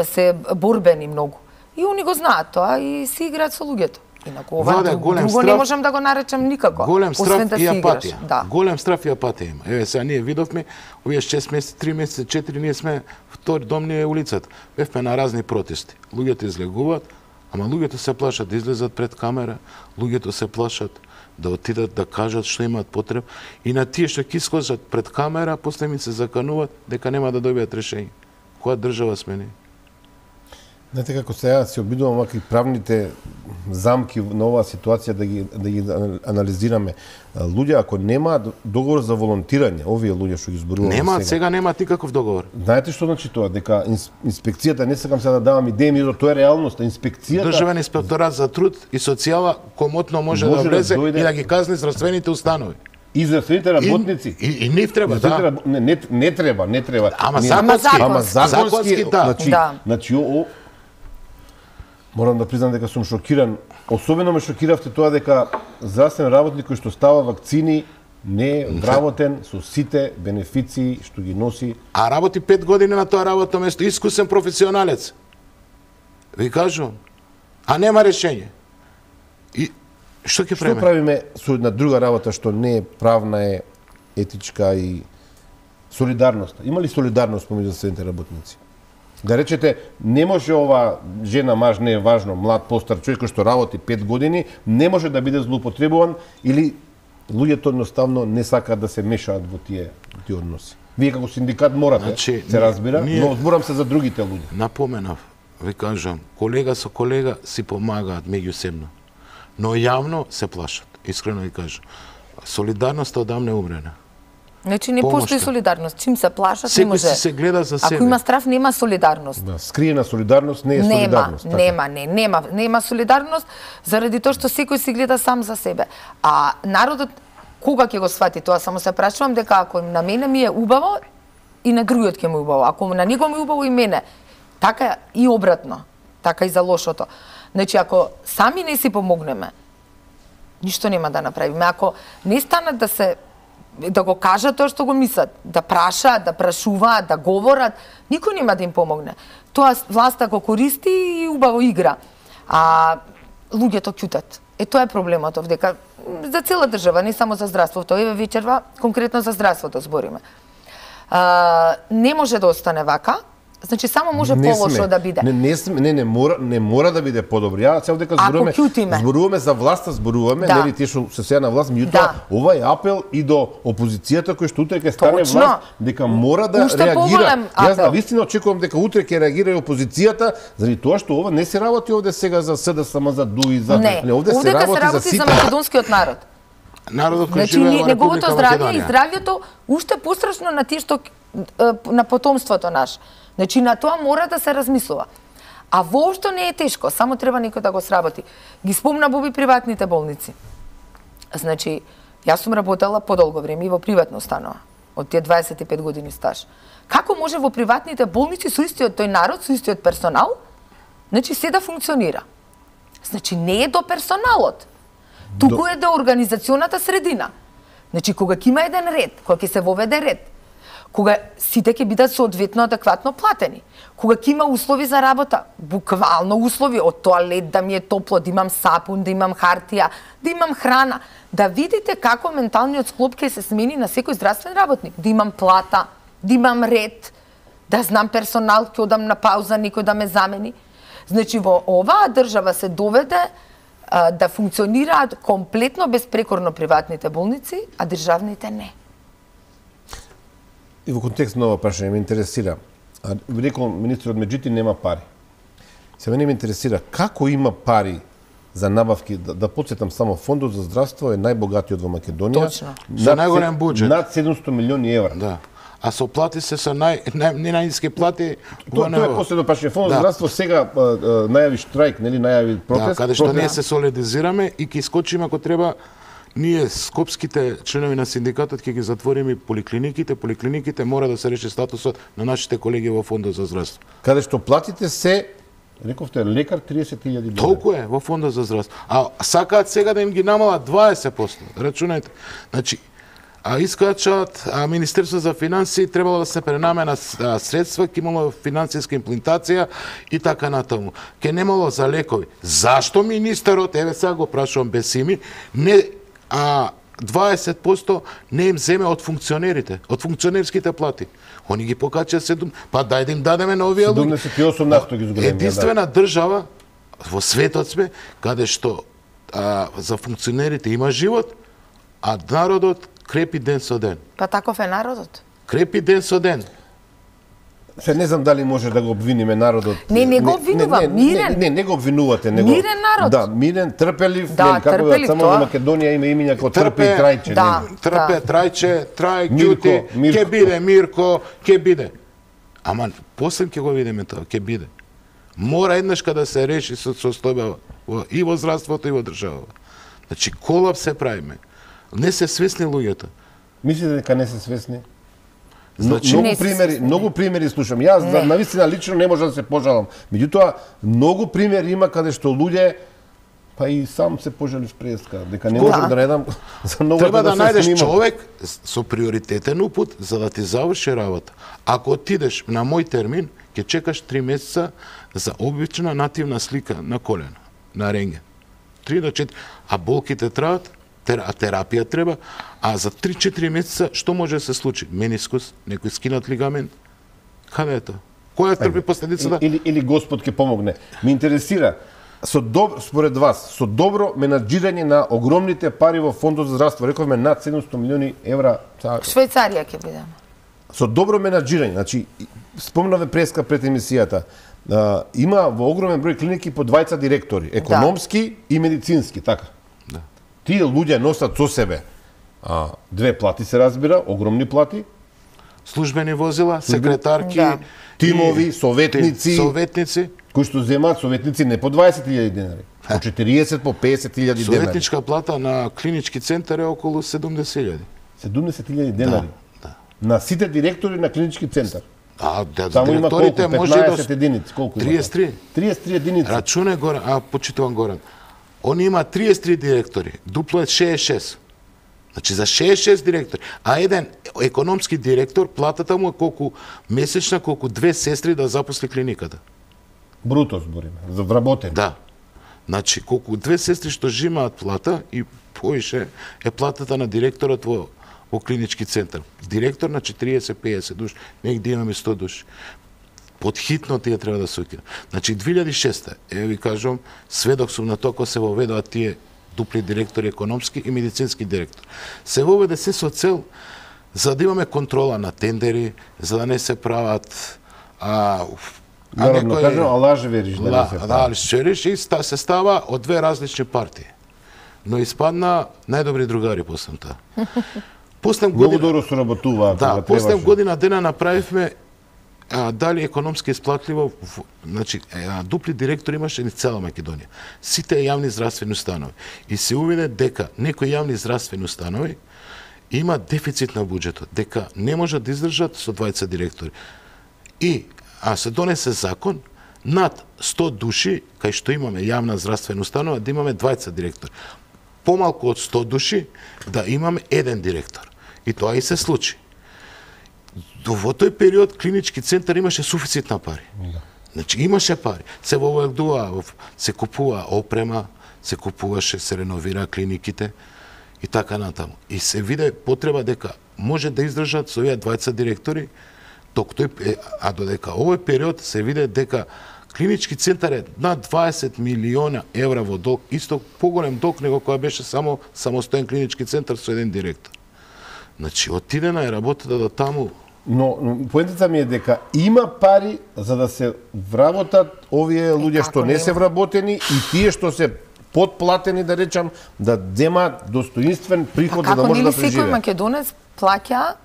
[SPEAKER 3] се борбени многу. И они го знаат тоа и си играат со луѓето. Инаку ова друго не можам да го наречам никако.
[SPEAKER 2] Голем страф и апатија. Да. Голем страф и апатија има. Еве сега ние видовме овие 6 месеци, 3 месеци, 4 ние сме втори дом ни е улицата. Бевме на разни протести. Луѓето излегуваат, ама луѓето се плашат да излезат пред камера, луѓето се плашат да отидат да кажат што имаат потреб и на тие што ќе искажат пред камера, после ми се закануваат дека нема да добијат решење. Која држава сме ние?
[SPEAKER 1] Знаете како сега се обидувам вака и правните замки на оваа ситуација да ги анализираме. Луѓе ако нема договор за волонтирање, овие луѓе што ги зборуваме
[SPEAKER 2] сега немаат никаков договор.
[SPEAKER 1] Знаете што значи тоа? Дека инспекцијата, не сакам сега да давам идеи, тоа е реалноста. Инспекцијата
[SPEAKER 2] Државен инспекторат за труд и социјала комотно може да влезе и да ги казни здравствените установи.
[SPEAKER 1] И здравствените работници.
[SPEAKER 2] И нив треба, да.
[SPEAKER 1] Не треба.
[SPEAKER 2] Ама
[SPEAKER 1] законски,
[SPEAKER 2] да.
[SPEAKER 1] Значи, морам да признам дека сум шокиран. Особено ме шокиравте тоа дека здравствен работник кој што става вакцини не е вработен со сите бенефиции што ги носи.
[SPEAKER 2] А работи 5 години на тоа работно место, искусен професионалец. Ви кажувам. А нема решење. И што ќе правиме?
[SPEAKER 1] Што правиме со една друга работа што не е правна, е етичка и солидарност. Има ли солидарност помеѓу здравствените работници? Да речете, не може ова жена, маж, не е важно, млад, постар човек кој што работи 5 години, не може да биде злоупотребуван или луѓето едноставно не сакаат да се мешаат во тие односи. Вие како синдикат морате, се разбира, но зборам се за другите луѓе.
[SPEAKER 2] Напоменав, ви кажам, колега со колега си помагаат меѓусебно, но јавно се плашат. Искрено ви кажам. Солидарноста одамне умрена.
[SPEAKER 3] Значи не постои солидарност. Чим се плашат, не може.
[SPEAKER 2] Секој се гледа за себе.
[SPEAKER 3] Ако има страф, нема солидарност.
[SPEAKER 1] Да, скриена солидарност не е солидарност.
[SPEAKER 3] Нема солидарност, заради тоа што секој си гледа сам за себе. А народот кога ќе го свати тоа, само се прашувам дека ако на мене ми е убаво и на другиот ќе му е убаво. Ако на него ми е убаво и мене, така и обратно. Така и за лошото. Значи ако сами не си помогнеме, ништо нема да направиме. Ако не станат да го кажат тоа што го мислат, да прашаат, да прашуваат, да говорат, никој нема да им помогне. Тоа власта го користи и убаво игра. А луѓето ќутат. Тоа е проблемот овдека за цела држава, не само за здравството. Еве вечерва конкретно за здравството збориме. Не може да остане вака, Значи само може полошо да биде.
[SPEAKER 1] Не мора да биде подобро. Ја се дека зборуваме за власта, зборуваме, нели тие што се сега на власт, меѓутоа ова е апел и до опозицијата кој што утре ќе стане власт, дека мора да реагира. Јас навистина очекувам дека утре ќе реагира и опозицијата, заради тоа што ова не се работи овде сега за СДСМ, за ДУИ, за
[SPEAKER 3] овде се работи за македонскиот народ.
[SPEAKER 2] Народот кој
[SPEAKER 3] значи,
[SPEAKER 2] живее во
[SPEAKER 3] неговото
[SPEAKER 2] Република
[SPEAKER 3] здравје и
[SPEAKER 2] Македонија.
[SPEAKER 3] здравјето уште пострашно на тие што на потомството наше. Значи на тоа мора да се размислува. А воопшто не е тешко, само треба некој да го сработи. Ги спомна Боби приватните болници. Значи, јас сум работела подолго време и во приватна установа, од тие 25 години стаж. Како може во приватните болници со истиот тој народ, со истиот персонал, значи се да функционира? Значи не е до персоналот, туку е до организационата средина. Значи кога ќе има еден ред, кога ќе се воведе ред, кога сите ќе бидат соодветно адекватно платени, кога ќе има услови за работа, буквално услови, од тоалет да ми е топло, да имам сапун, да имам хартија, да имам храна, да видите како менталниот склоп ќе се смени на секој здравствен работник, да имам плата, да имам ред, да знам персонал, ќе одам на пауза, некој да ме замени. Значи во оваа држава се доведе да функционираат комплетно безпрекорно приватните болници, а државните не.
[SPEAKER 1] И во контекст на ова прашање ме интересира, рекол министерот Меджити нема пари. Се мене ме интересира како има пари за набавки, да подсетам само фондот за здравство е најбогатиот во Македонија.
[SPEAKER 2] Точно. Со најголем буџет.
[SPEAKER 1] Над 700 милиони евра.
[SPEAKER 2] Да. А со плати се со најниски плати.
[SPEAKER 1] Тоа е последно прашање. Фондот за здравство сега најави штрајк, нели најави протест.
[SPEAKER 2] Да, каде што ние се солидизираме и ќе искочиме ако треба. Ние, скопските членови на синдикатот, ќе ги затвориме поликлиниките мора да се реши статусот на нашите колеги во Фондот за здравство.
[SPEAKER 1] Каде што платите се, рековте, лекар 30.000 денари.
[SPEAKER 2] Толку е во Фондот за здравство. А сакаат сега да им ги намалат 20%. Рачунајте. Значи, искачат Министерство за финансии требало да се пренамена средства, ќе имало финансиска имплантација и така натаму. Ке немало за лекови. Зашто министерот, еве сега го прашувам без ими, не 20% не им земе од функционерите, од функционерските плати. Они ги покача 7, па дај да им дадеме на овие луѓе.
[SPEAKER 1] 78% ги зголемија.
[SPEAKER 2] Единствена држава во светот сме каде што за функционерите има живот, а народот крепи ден со ден.
[SPEAKER 3] Па таков е народот.
[SPEAKER 2] Крепи ден со ден.
[SPEAKER 1] Се не знам дали може да го обвиниме народот.
[SPEAKER 3] Не го обвинувам, мирен.
[SPEAKER 1] Не го обвинувате, него.
[SPEAKER 3] Мирен народ.
[SPEAKER 1] Да, мирен, трпелив,
[SPEAKER 3] да,
[SPEAKER 1] како
[SPEAKER 3] трпелив,
[SPEAKER 1] само во Македонија има имиња како Трпе и Трајче.
[SPEAKER 3] Да,
[SPEAKER 2] Трпе, Трајче, Трај, Ѓути, ќе биде Мирко, ќе биде. Ама после ќе го видиме тоа, ќе биде. Мора еднашка да се реши состојба и во здравството и во државата. Значи колапс се правиме. Не се свесни луѓето.
[SPEAKER 1] Мислите дека не се свесни?
[SPEAKER 2] Значи,
[SPEAKER 1] многу примери слушам. Јас навистина лично не можам да се пожалам. Меѓутоа, многу примери има каде што луѓе па и сам се пожалив преска, дека не можам да најдам за многу
[SPEAKER 2] треба да најдеш човек со приоритетен упут за да ти заврши работа. Ако отидеш на мој термин, ќе чекаш 3 месеца за обична нативна слика на колено, на рентген. 3 до 4, а болките траат, а терапија треба, а за 3-4 месеца што може да се случи? Менискус, некој скинат лигамент. Каде е тоа? Која трпи последицата?
[SPEAKER 1] Или Господ ќе помогне. Ме интересира, според вас, со добро менаџирање на огромните пари во Фондот за здравство, рековме над 700 милиони евра.
[SPEAKER 3] Швајцарија ќе бидеме.
[SPEAKER 1] Со добро менаџирање, значи, спомнаве преска пред емисијата, има во огромен број клиники по 20 директори, економски и медицински, така. Тие луѓе носат со себе две плати, се разбира, огромни плати.
[SPEAKER 2] Службени возила, секретарки,
[SPEAKER 1] тимови, советници, кои што земаат советници не по 20.000 денари, по 40, по 50.000 денари.
[SPEAKER 2] Советничка плата на клинички центар е околу 70.000.
[SPEAKER 1] 70.000 денари?
[SPEAKER 2] Да.
[SPEAKER 1] На сите директори на клинички центар?
[SPEAKER 2] Само има колку?
[SPEAKER 1] 15 единици, колку има?
[SPEAKER 2] 33.
[SPEAKER 1] 33 единици.
[SPEAKER 2] Рачуне Горан, почитувам Горан. Он има 33 директори, дупло е 66. Значи за 66 директори, а еден економски директор, платата му е колку месечна, колку 2 сестри да запусли клиниката.
[SPEAKER 1] Бруто збориме, за вработени.
[SPEAKER 2] Да. Значи, колку 2 сестри што жимаат плата и поише е платата на директорот во клинички центар. Директор на 40-50 души, негде имаме 100 души. подхитно тие треба да се ukинат. Значи 2006, ви кажам, сведок сум на тоа кога се воведоа тие дупли директори економски и медицински директор. Се воведе се со цел за да имаме контрола на тендери, за да не се прават
[SPEAKER 1] Народно кажано, лаже вериш да не се прави.
[SPEAKER 2] вериш и се става од две различни партии. Но испадна најдобри другари после тоа.
[SPEAKER 1] Многу добро соработуваа.
[SPEAKER 2] Да, после година дена направивме дали економски исплатливо, значи дупли директори имаше ни цела Македонија. Сите јавни здравствени установи. И се увиде дека некои јавни здравствени установи има дефицит на буџетот, дека не можат да издржат со 20 директори. И се донесе закон над 100 души, кај што имаме јавна здравствена установа, да имаме 20 директори. Помалку од 100 души да имаме еден директор. И тоа и се случи. Во тој период клинички центар имаше суфицит на пари. Значи имаше пари. Се воведува, се купува опрема, се купуваше, се реновира клиниките и така натаму. И се виде потреба дека може да издржат со овие 20 директори, додека овој период се виде дека клинички центар е над 20 милиона евра во долг, исто поголем долг него која беше само самостоен клинички центар со еден директор. Значи, отидена е работата до таму.
[SPEAKER 1] Но поентата ми е дека има пари за да се вработат овие луѓе што не се вработени и тие што се подплатени, да речам, да земат достоинствен приход за да може да преживее.
[SPEAKER 3] Секој македонец плаќа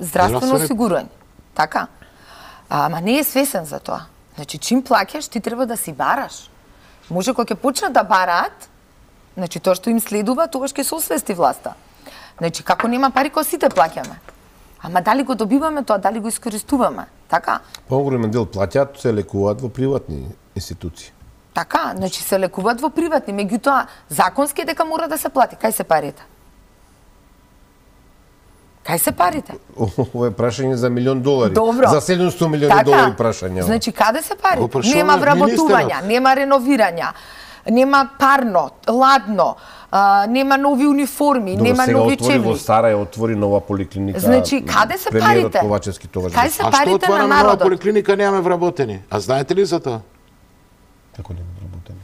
[SPEAKER 3] здравствено осигурање. Така? Ама не е свесен за тоа. Значи, чим плаќаш, ти треба да си бараш. Може кога ќе почнат да бараат, значи тоа што им следува, тогаш ќе се освести власта. Значи, како нема пари, кога сите плаќаме. Ама дали го добиваме тоа, дали го искористуваме, така?
[SPEAKER 1] Поголемен дел плаќаат, се лекуваат во приватни институции.
[SPEAKER 3] Така, значи се лекуваат во приватни, меѓутоа законски дека мора да се плати. Кај се парите? Кај се парите?
[SPEAKER 1] Ова е прашање за $1,000,000.
[SPEAKER 3] Добро.
[SPEAKER 1] За $700 милиони прашање.
[SPEAKER 3] Значи, каде се парите? Нема вработувања, нема реновирања, нема парно, ладно, нема нови униформи, нема нови чевли.
[SPEAKER 1] Во Сарај отвори нова поликлиника.
[SPEAKER 3] Значи, каде се парите? Кај се парите на народот?
[SPEAKER 2] Нова поликлиника немаме вработени. А знаете ли за тоа?
[SPEAKER 1] Како нема вработени?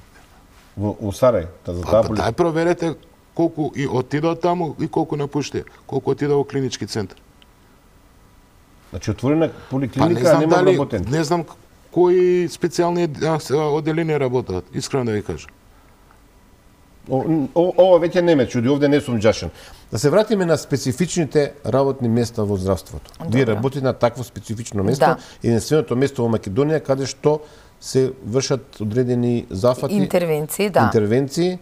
[SPEAKER 1] Во Сарај, за таа поликлиника.
[SPEAKER 2] Дај проверете колку и отидоа таму и колку напуштија, колку отидоа во клинички центар.
[SPEAKER 1] Значи отворена поликлиника, нема вработени.
[SPEAKER 2] Не знам кои специјални оделенија работат, искрено да ви кажам.
[SPEAKER 1] Ова веќе не ме чуди, овде не сум џашен. Да се вратиме на специфичните работни места во здравството. Вие работите на такво специфично место, единственото место во Македонија каде што се вршат одредени зафати,
[SPEAKER 3] интервенции, да.
[SPEAKER 1] Интервенции.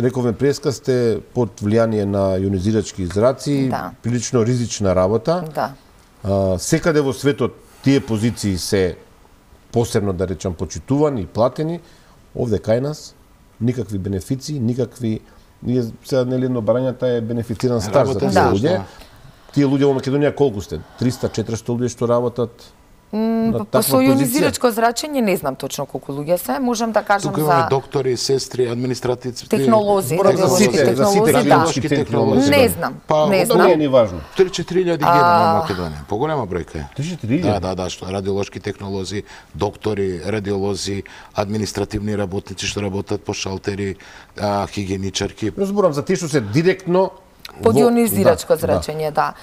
[SPEAKER 1] Рековме преска сте под влијание на јонизирачки зраци, прилично ризична работа.
[SPEAKER 3] Да.
[SPEAKER 1] Секаде во светот тие позиции се посебно, да речам, почитувани и платени. Овде кај нас никакви бенефиции, никакви... Ние сега нели едно барањата е бенефициран стаж за тие луѓе. Тие луѓе во Македонија колку сте? 300-400 луѓе што работат на таква
[SPEAKER 3] со јонизирачко зрачење не знам точно колку луѓе се, можам да кажам
[SPEAKER 2] за... Тука имаме доктори, сестри, административци...
[SPEAKER 3] Технолози,
[SPEAKER 2] радиолошки технолози.
[SPEAKER 3] Не знам, не
[SPEAKER 1] знам. Не е ни важно.
[SPEAKER 2] 3-4 000 во Македонија. Поголема бројка е.
[SPEAKER 1] 3-4
[SPEAKER 2] Да, што радиолошки технолози, доктори, радиолози, административни работници што работат по шалтери, хигиеничарки.
[SPEAKER 1] Разборам за тие што се директно
[SPEAKER 3] под јонизирачко зрачење, да.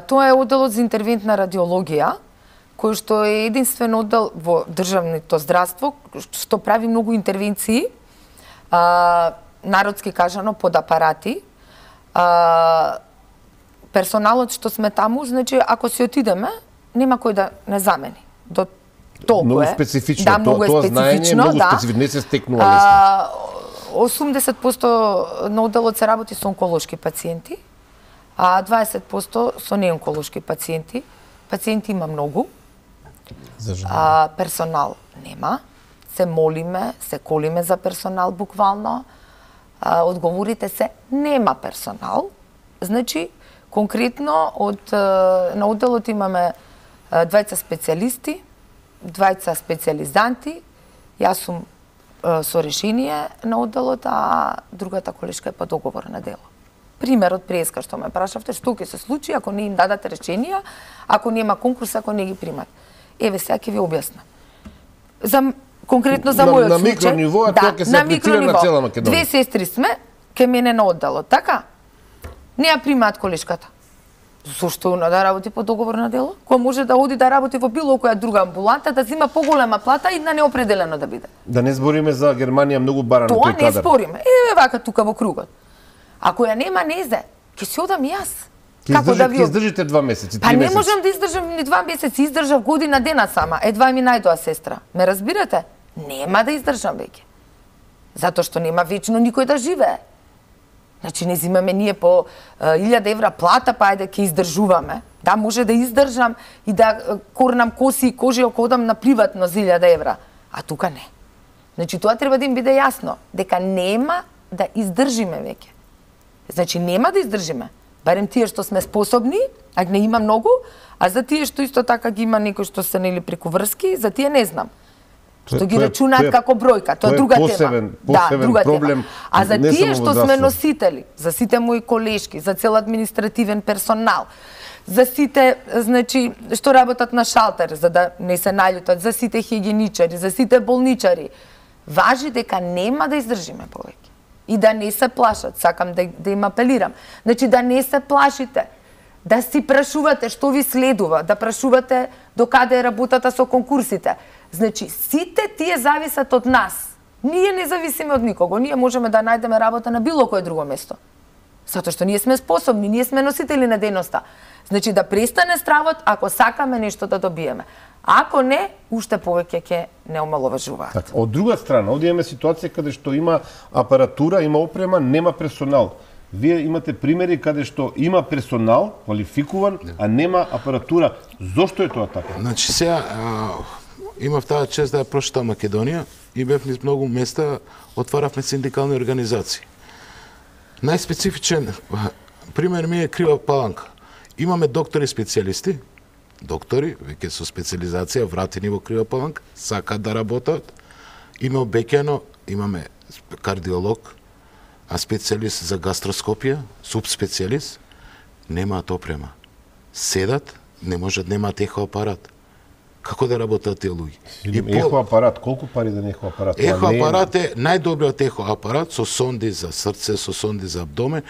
[SPEAKER 3] Тоа е одделот за интервентна радиологија, кој што е единствен оддел во државното здравство, што прави многу интервенции, народски кажано, под апарати. Персоналот што сме таму, значи, ако си отидеме, нема кој да не замени. До толку
[SPEAKER 1] многу
[SPEAKER 3] е.
[SPEAKER 1] специфично.
[SPEAKER 3] Да, многу е специфично,
[SPEAKER 1] многу специфично, не се стекнува лесно. 80% на
[SPEAKER 3] одделот се работи со онколошки пациенти, а 20% со неонколошки пациенти. Пациенти има многу. Персонал нема. Се молиме, се колиме за персонал буквално. Одговорите се нема персонал. Значи, конкретно на одделот имаме 2 специјалисти, 2 специјализанти. Јас сум со решение на одделот, а другата колешка е по договор на дело. пример од преска што ме прашавте, што ќе се случи ако не им дадат реченија, ако нема конкурс, ако не ги примат. Еве сега ќе ви објаснам. Конкретно за мојот случај.
[SPEAKER 1] На микрониво, а тоа ќе се аплицира на цела Македонија.
[SPEAKER 3] 2 сестри сме, ке мене на одделот, така? Не ја примаат колешката. Зошто она да работи по договор на дело? Кој може да оди да работи во било која друга амбуланта, да зима поголема плата и на неопределено да биде.
[SPEAKER 1] Да не збориме за Германија, многу баран тој кадар.
[SPEAKER 3] Тоа не збориме. Еве вака тука во кругот. Ако ја нема незе, ќе си одам и јас.
[SPEAKER 1] Како да ви издржите 2 месеци, 3 месеци?
[SPEAKER 3] Па не можам да издржам ни 2 месеци, издржав година дена сама. Едва ми најдоа сестра. Ме разбирате? Нема да издржам веќе. Затоа што нема вечно никој да живее. Значи не зимаме ние по 1000 евра плата, па ајде ќе издржуваме. Да, може да издржам и да корнам коси и кожи ако одам на приватно за 1000 евра. А тука не. Значи тоа треба да им биде јасно, дека нема да издржиме веќе. Значи нема да издржиме. Барем тие што сме способни, а не има многу, а за тие што исто така ги има некои што се нели преку врски, за тие не знам. Што ги рачунаат како бројка, тоа е друга тема.
[SPEAKER 1] Да, друга проблем.
[SPEAKER 3] А за тие што сме носители, за сите мои колешки, за цел административен персонал, за сите, значи, што работат на шалтер, за да не се наљутат, за сите хигиеничари, за сите болничари, важи дека нема да издржиме повеќе. И да не се плашат, сакам да им апелирам. Значи да не се плашите, да си прашувате што ви следува, да прашувате до каде е работата со конкурсите. Значи, сите тие зависат од нас. Ние не зависиме од никого. Ние можеме да најдеме работа на било кое друго место. Затоа што ние сме способни, ние сме носители на дејноста. Значи, да престане стравот ако сакаме нешто да добиеме. Ако не, уште повеќе ќе не омаловажуваат.
[SPEAKER 1] Така, од друга страна, овде имаме ситуација каде што има апаратура, има опрема, нема персонал. Вие имате примери каде што има персонал, квалификуван, а нема апаратура. Зошто е тоа така?
[SPEAKER 2] Значи, сега имав таа чест да ја прошетам Македонија и бев низ многу места, отваравме синдикални организации. Најспецифичен пример ми е Крива Паланка. Имаме доктори специјалисти, доктори, веќе со специализација, вратени во Крива Паланка, сакаат да работат. Има обеќано, имаме кардиолог, а специјалист за гастроскопија, субспецијалист, немаат опрема. Седат, не можат, немаат ехоапарат. Како да работат тие луѓе?
[SPEAKER 1] Ехоапарат, колку пари да ехоапарат?
[SPEAKER 2] Ехоапарат е најдобриот ехоапарат со сонди за срце, со сонди за абдомен,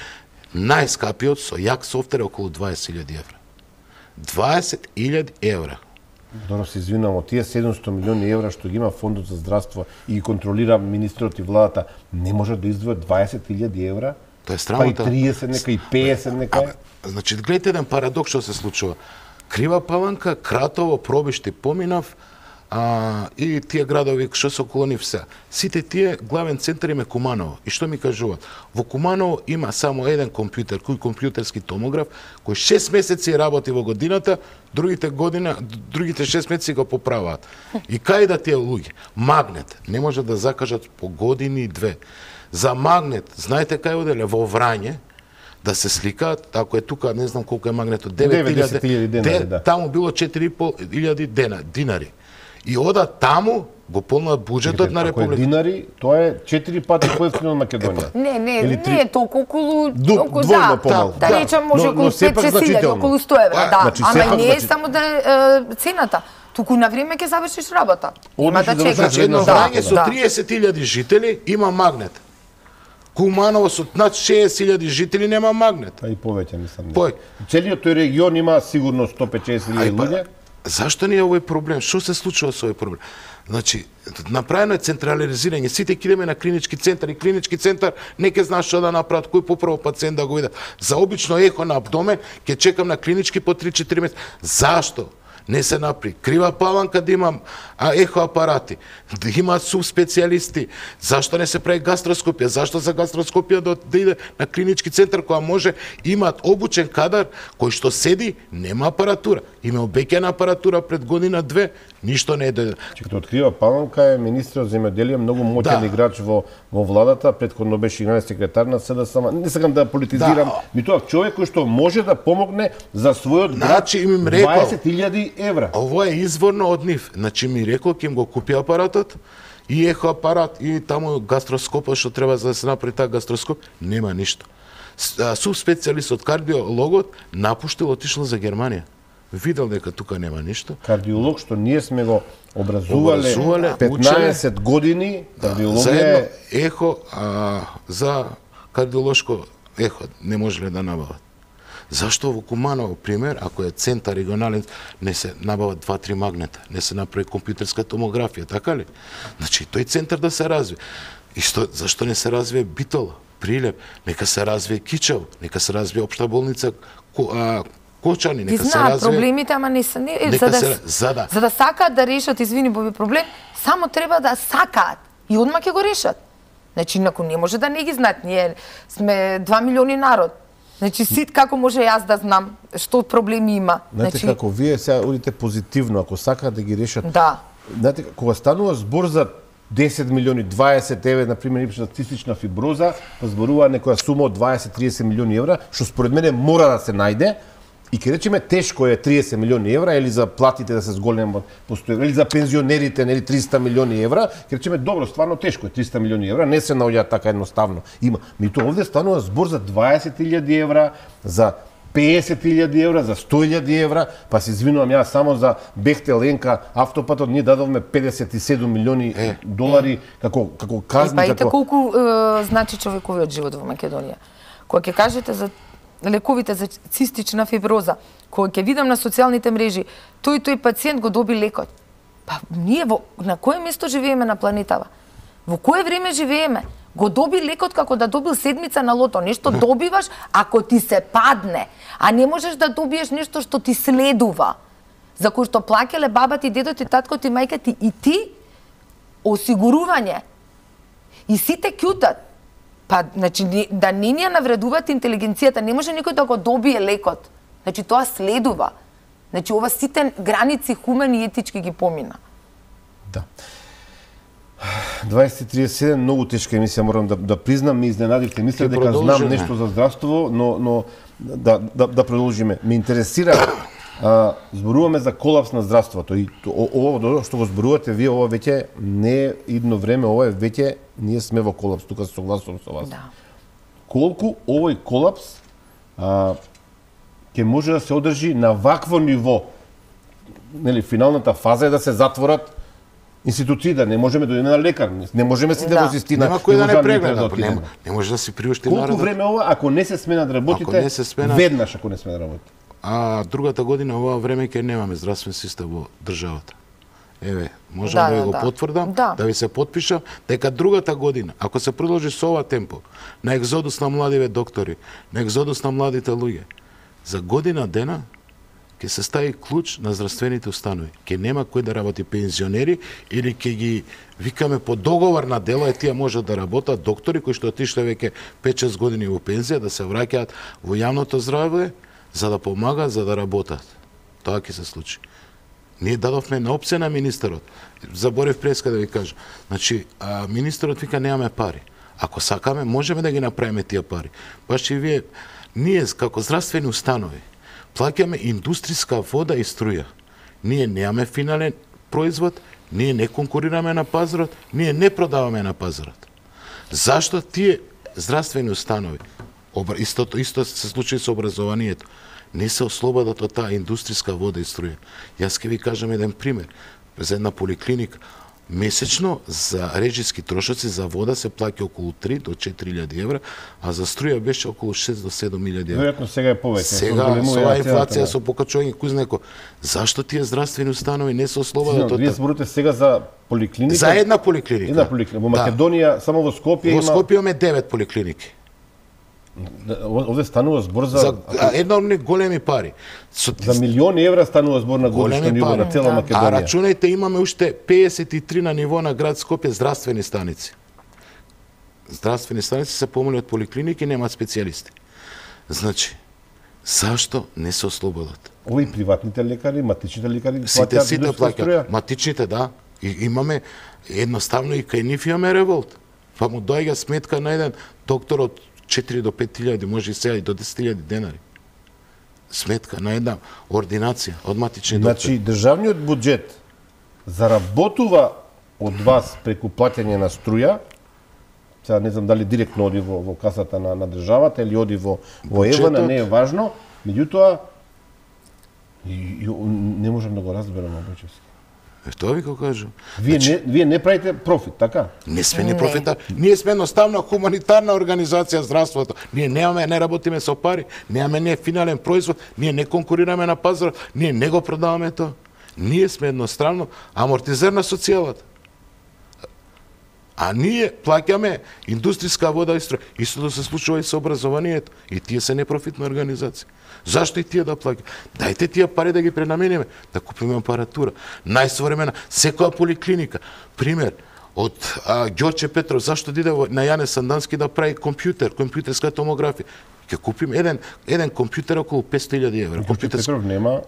[SPEAKER 2] најскапиот со јак софтвер околу 20.000 евра. 20.000 евра.
[SPEAKER 1] Добро се извинувам, од тие 700 милиони евра што ги има Фондот за здравство и ги контролира министрот и владата, не може да издвојат 20.000 евра?
[SPEAKER 2] Тоа е срамота.
[SPEAKER 1] Па и 30 нека, и 50 нека.
[SPEAKER 2] Значи, гледате еден парадокс што се случува. Крива Паланка, Кратово, Пробишти поминав, и тие градови што се околу нив се. Сите тие главен центар им е Куманово. И што ми кажуваат? Во Куманово има само еден компјутер, кој компјутерски томограф, кој 6 месеци работи во годината, другите 6 месеци го поправаат. И кај да тие луѓе? Магнет не може да закажат по години и 2. За магнет, знаете кај оделе? Во Врање, да се сликаат, ако е тука, не знам колку е магнетот, 9.000 денари, да. Таму било 4.500 динари. И одат таму, го полнат буџетот на Република.
[SPEAKER 1] Ако е динари, тоа е 4 пати поевтино од Македонија.
[SPEAKER 3] Не е толку околу...
[SPEAKER 1] Двојно помалку.
[SPEAKER 3] Да речам, може околу 5-6 илјади, околу 100 евра, да. Ама не е само да е цената. Туку на време ќе завршиш работа. Има да чекаш.
[SPEAKER 2] Значи, едно Врање со 30.000 жители има магнет. Куманово со над 60.000 жители нема магнет.
[SPEAKER 1] А и повеќе, мислам.
[SPEAKER 2] Целиот
[SPEAKER 1] тој регион има сигурно 150.000 луѓе.
[SPEAKER 2] Зашто ни е овој проблем? Што се случува со овој проблем? Значи, направено е централизирање. Сите ќе идеме на клинички центар и клинички центар не ќе знаеш што да направат, кој поправо пациент да го видат. За обично ехо на абдомен ќе чекам на клинички по 3-4 месеци. Зашто не се направи? Крива Паланка да имам ехоапарати, да имаат субспецијалисти. Зашто не се прави гастроскопија? Зашто за гастроскопија да иде на клинички центар која може имаат обучен кадар кој што седи, нема апаратура. Има обеќана апаратура пред година-2, ништо не е дојде.
[SPEAKER 1] Като открива Паланка е министрот за земјоделие, многу моќен играч во владата, претходно беше генерален секретар на СДСМ. Не сакам да политизирам, тоа човек кој што може да помогне за својот град 20.000 евра.
[SPEAKER 2] Ово е изворно од нив. Значи ми рекол ќе им го купи апаратот и ехоапарат и таму гастроскопот што треба за да се направи таа гастроскоп, нема ништо. субспецијалист од кардиологот напуштил, отишел за Германија. Видел дека тука нема ништо.
[SPEAKER 1] Кардиолог што ние сме го образувале 15 години,
[SPEAKER 2] за
[SPEAKER 1] кардиологија
[SPEAKER 2] едно ехо, за кардиолошко ехо не можеле да набават. Зашто во Куманово, пример, ако е центар регионален, не се набават 2-3 магнета, не се направи компјутерска томографија, така ли? Значи, тој центар да се развие. И зашто не се развие Битола, Прилеп, нека се развие Кичево, нека се развие Општа болница Кочани, нека се развие...
[SPEAKER 3] проблемите, ама не се... За да сакаат да решат, извини, Боби, проблем, само треба да сакаат и одма ќе го решат. Значи, инаку не може да не ги знаат. Ние сме 2 милиони народ. Значи, сит како може јас да знам што проблеми има.
[SPEAKER 1] Знаете како, вие сега одите позитивно, ако сакаат да ги решат.
[SPEAKER 3] Да.
[SPEAKER 1] Знаете, кога станува збор за 10 милиони, 20 еве, например, цистична фиброза, зборува некоја сума од 20-30 милиони евра, што според мене мора да се најде, и ке речеме тешко е 30 милиони евра, или за платите да се зголемат постојано, или за пензионерите, нели 300 милиони евра, ке речеме добро, стварно тешко е 300 милиони евра, не се наоѓаат така едноставно. Има, меѓутоа овде станува збор за 20.000 евра, за 50.000 евра, за 100.000 евра, па се извинувам јас само за Бехтел Енка автопатот, ние дадовме 57 милиони долари како казни.
[SPEAKER 3] Па ите колку значи човековиот живот во Македонија. Кога ќе кажете за лековите за цистична фиброза, кога ќе видам на социјалните мрежи, тој пациент го доби лекот. Па ние на кое место живееме на планетава? Во кое време живееме? Го доби лекот како да добил седмица на лото. Нешто добиваш ако ти се падне, а не можеш да добиеш нешто што ти следува. За кој што плаќале баба ти, дедо ти, татко ти, мајка ти и ти осигурување. И сите ќутат. Па, значи, да не ни ја навредуваат интелигенцијата, не може никој да го добие лекот. Значи, тоа следува. Значи, ова сите граници хумани и етички ги помина.
[SPEAKER 1] Да. 20:37, многу тешка емисија, морам да признам, ми изненадивте. Мисля дека знам нешто за здравство, но да продолжиме. Ме интересира, зборуваме за колапс на здравството и ово што го зборувате вие, ова веќе не е идно време, ова е веќе ние сме во колапс, тука се согласувам со вас.
[SPEAKER 3] Да.
[SPEAKER 1] Колку овој колапс ќе може да се одржи на вакво ниво? Нели, финалната фаза е да се затворат институции, да не можеме да одиме на лекар, не можеме сите во систина.
[SPEAKER 2] Нема кој да не прегледа, не може да си приушти народот.
[SPEAKER 1] Колку време ова, ако не се сменат работите, веднаш ако не сменат работите?
[SPEAKER 2] Другата година ова време ќе немаме здравствен систем во државата. Еве, можам да го потврдам, да ви се потпишам, дека другата година, ако се продолжи со ова темпо, на екзодус на младиве доктори, на екзодус на младите луѓе, за година дена ќе се стави клуч на здравствените установи. Ќе нема кој да работи пензионери или ќе ги викаме по договор на дело, тие можат да работат доктори кои што отишле веќе 5-6 години во пензија, да се враќаат во јавното здравје за да помагаат, за да работат. Тоа ќе се случи. Ние дадовме на опција на министерот. Заборев преска да ви кажам. Значи, министерот вика немаме пари. Ако сакаме, можеме да ги направиме тие пари. Баш и вие, ние како здравствени установи плаќаме индустријска вода и струја. Ние немаме финален производ, ние не конкурираме на пазарот, ние не продаваме на пазарот. Зашто тие здравствени установи, исто се случи со образованието, не се ослободат од таа индустријска вода и струја. Јас ќе ви кажам еден пример. За една поликлиника, месечно за режиски трошоци за вода се плаќа околу 3 до 4.000 евра, а за струја беше околу 6 до 7.000 евра.
[SPEAKER 1] Веројатно сега е повеќе.
[SPEAKER 2] Сега со оваа инфлација, со покачување кој знае кој. Зашто тие здравствени установи не се ослободат од таа?
[SPEAKER 1] Вие зборувате сега за поликлиника?
[SPEAKER 2] За една поликлиника.
[SPEAKER 1] Една поликлиника. Во Македонија, само во Скопје има...
[SPEAKER 2] Во Скопје имаме 9 поликлиники.
[SPEAKER 1] Овде станува збор за
[SPEAKER 2] еднормни големи пари.
[SPEAKER 1] За милиони евра станува збор на годишно ниво на цела Македонија.
[SPEAKER 2] А рачунајте, имаме уште 53 на ниво на град Скопје здравствени станици. Здравствени станици се помали од поликлиники, немаат специјалисти. Значи, зашто не се ослободат?
[SPEAKER 1] Овои приватните лекари, матичните лекари
[SPEAKER 2] сите плаќаат. Матичните, да. И имаме едноставно и кај нив имаме револт. Па му доаѓа сметка на еден доктор од 4 до 5.000, може и сега и до 10.000 денари. Сметка на една ординација од матични доктори.
[SPEAKER 1] Значи, државниот буџет заработува од вас преку плаќање на струја, Сега не знам дали директно оди во касата на државата или оди во ЕВН, не е важно. Меѓутоа, не можам да го разберам обически.
[SPEAKER 2] Тоа ви го кажам.
[SPEAKER 1] Вие не правите профит, така?
[SPEAKER 2] Не сме ни профита. Ние сме едноставно хуманитарна организација здравството. Ние не работиме со пари, немаме не финален производ, ние не конкурираме на пазарот, ние не го продаваме тоа. Ние сме едноставно амортизер на социјалата. А ние плаќаме индустријска вода и струја. Истото се случува и со образованието. И тие се непрофитна организација. Зашто и тие да плаќаат? Дајте тие пари да ги пренамениме, да купиме апаратура. Најсовремена, секоја поликлиника. Пример, од Ѓорче Петров, зашто диде на Јане Сандански да прави компјутерска томографија? Ќе купим еден компјутер околу 500.000 евра.
[SPEAKER 1] Ѓорче Петров
[SPEAKER 2] нема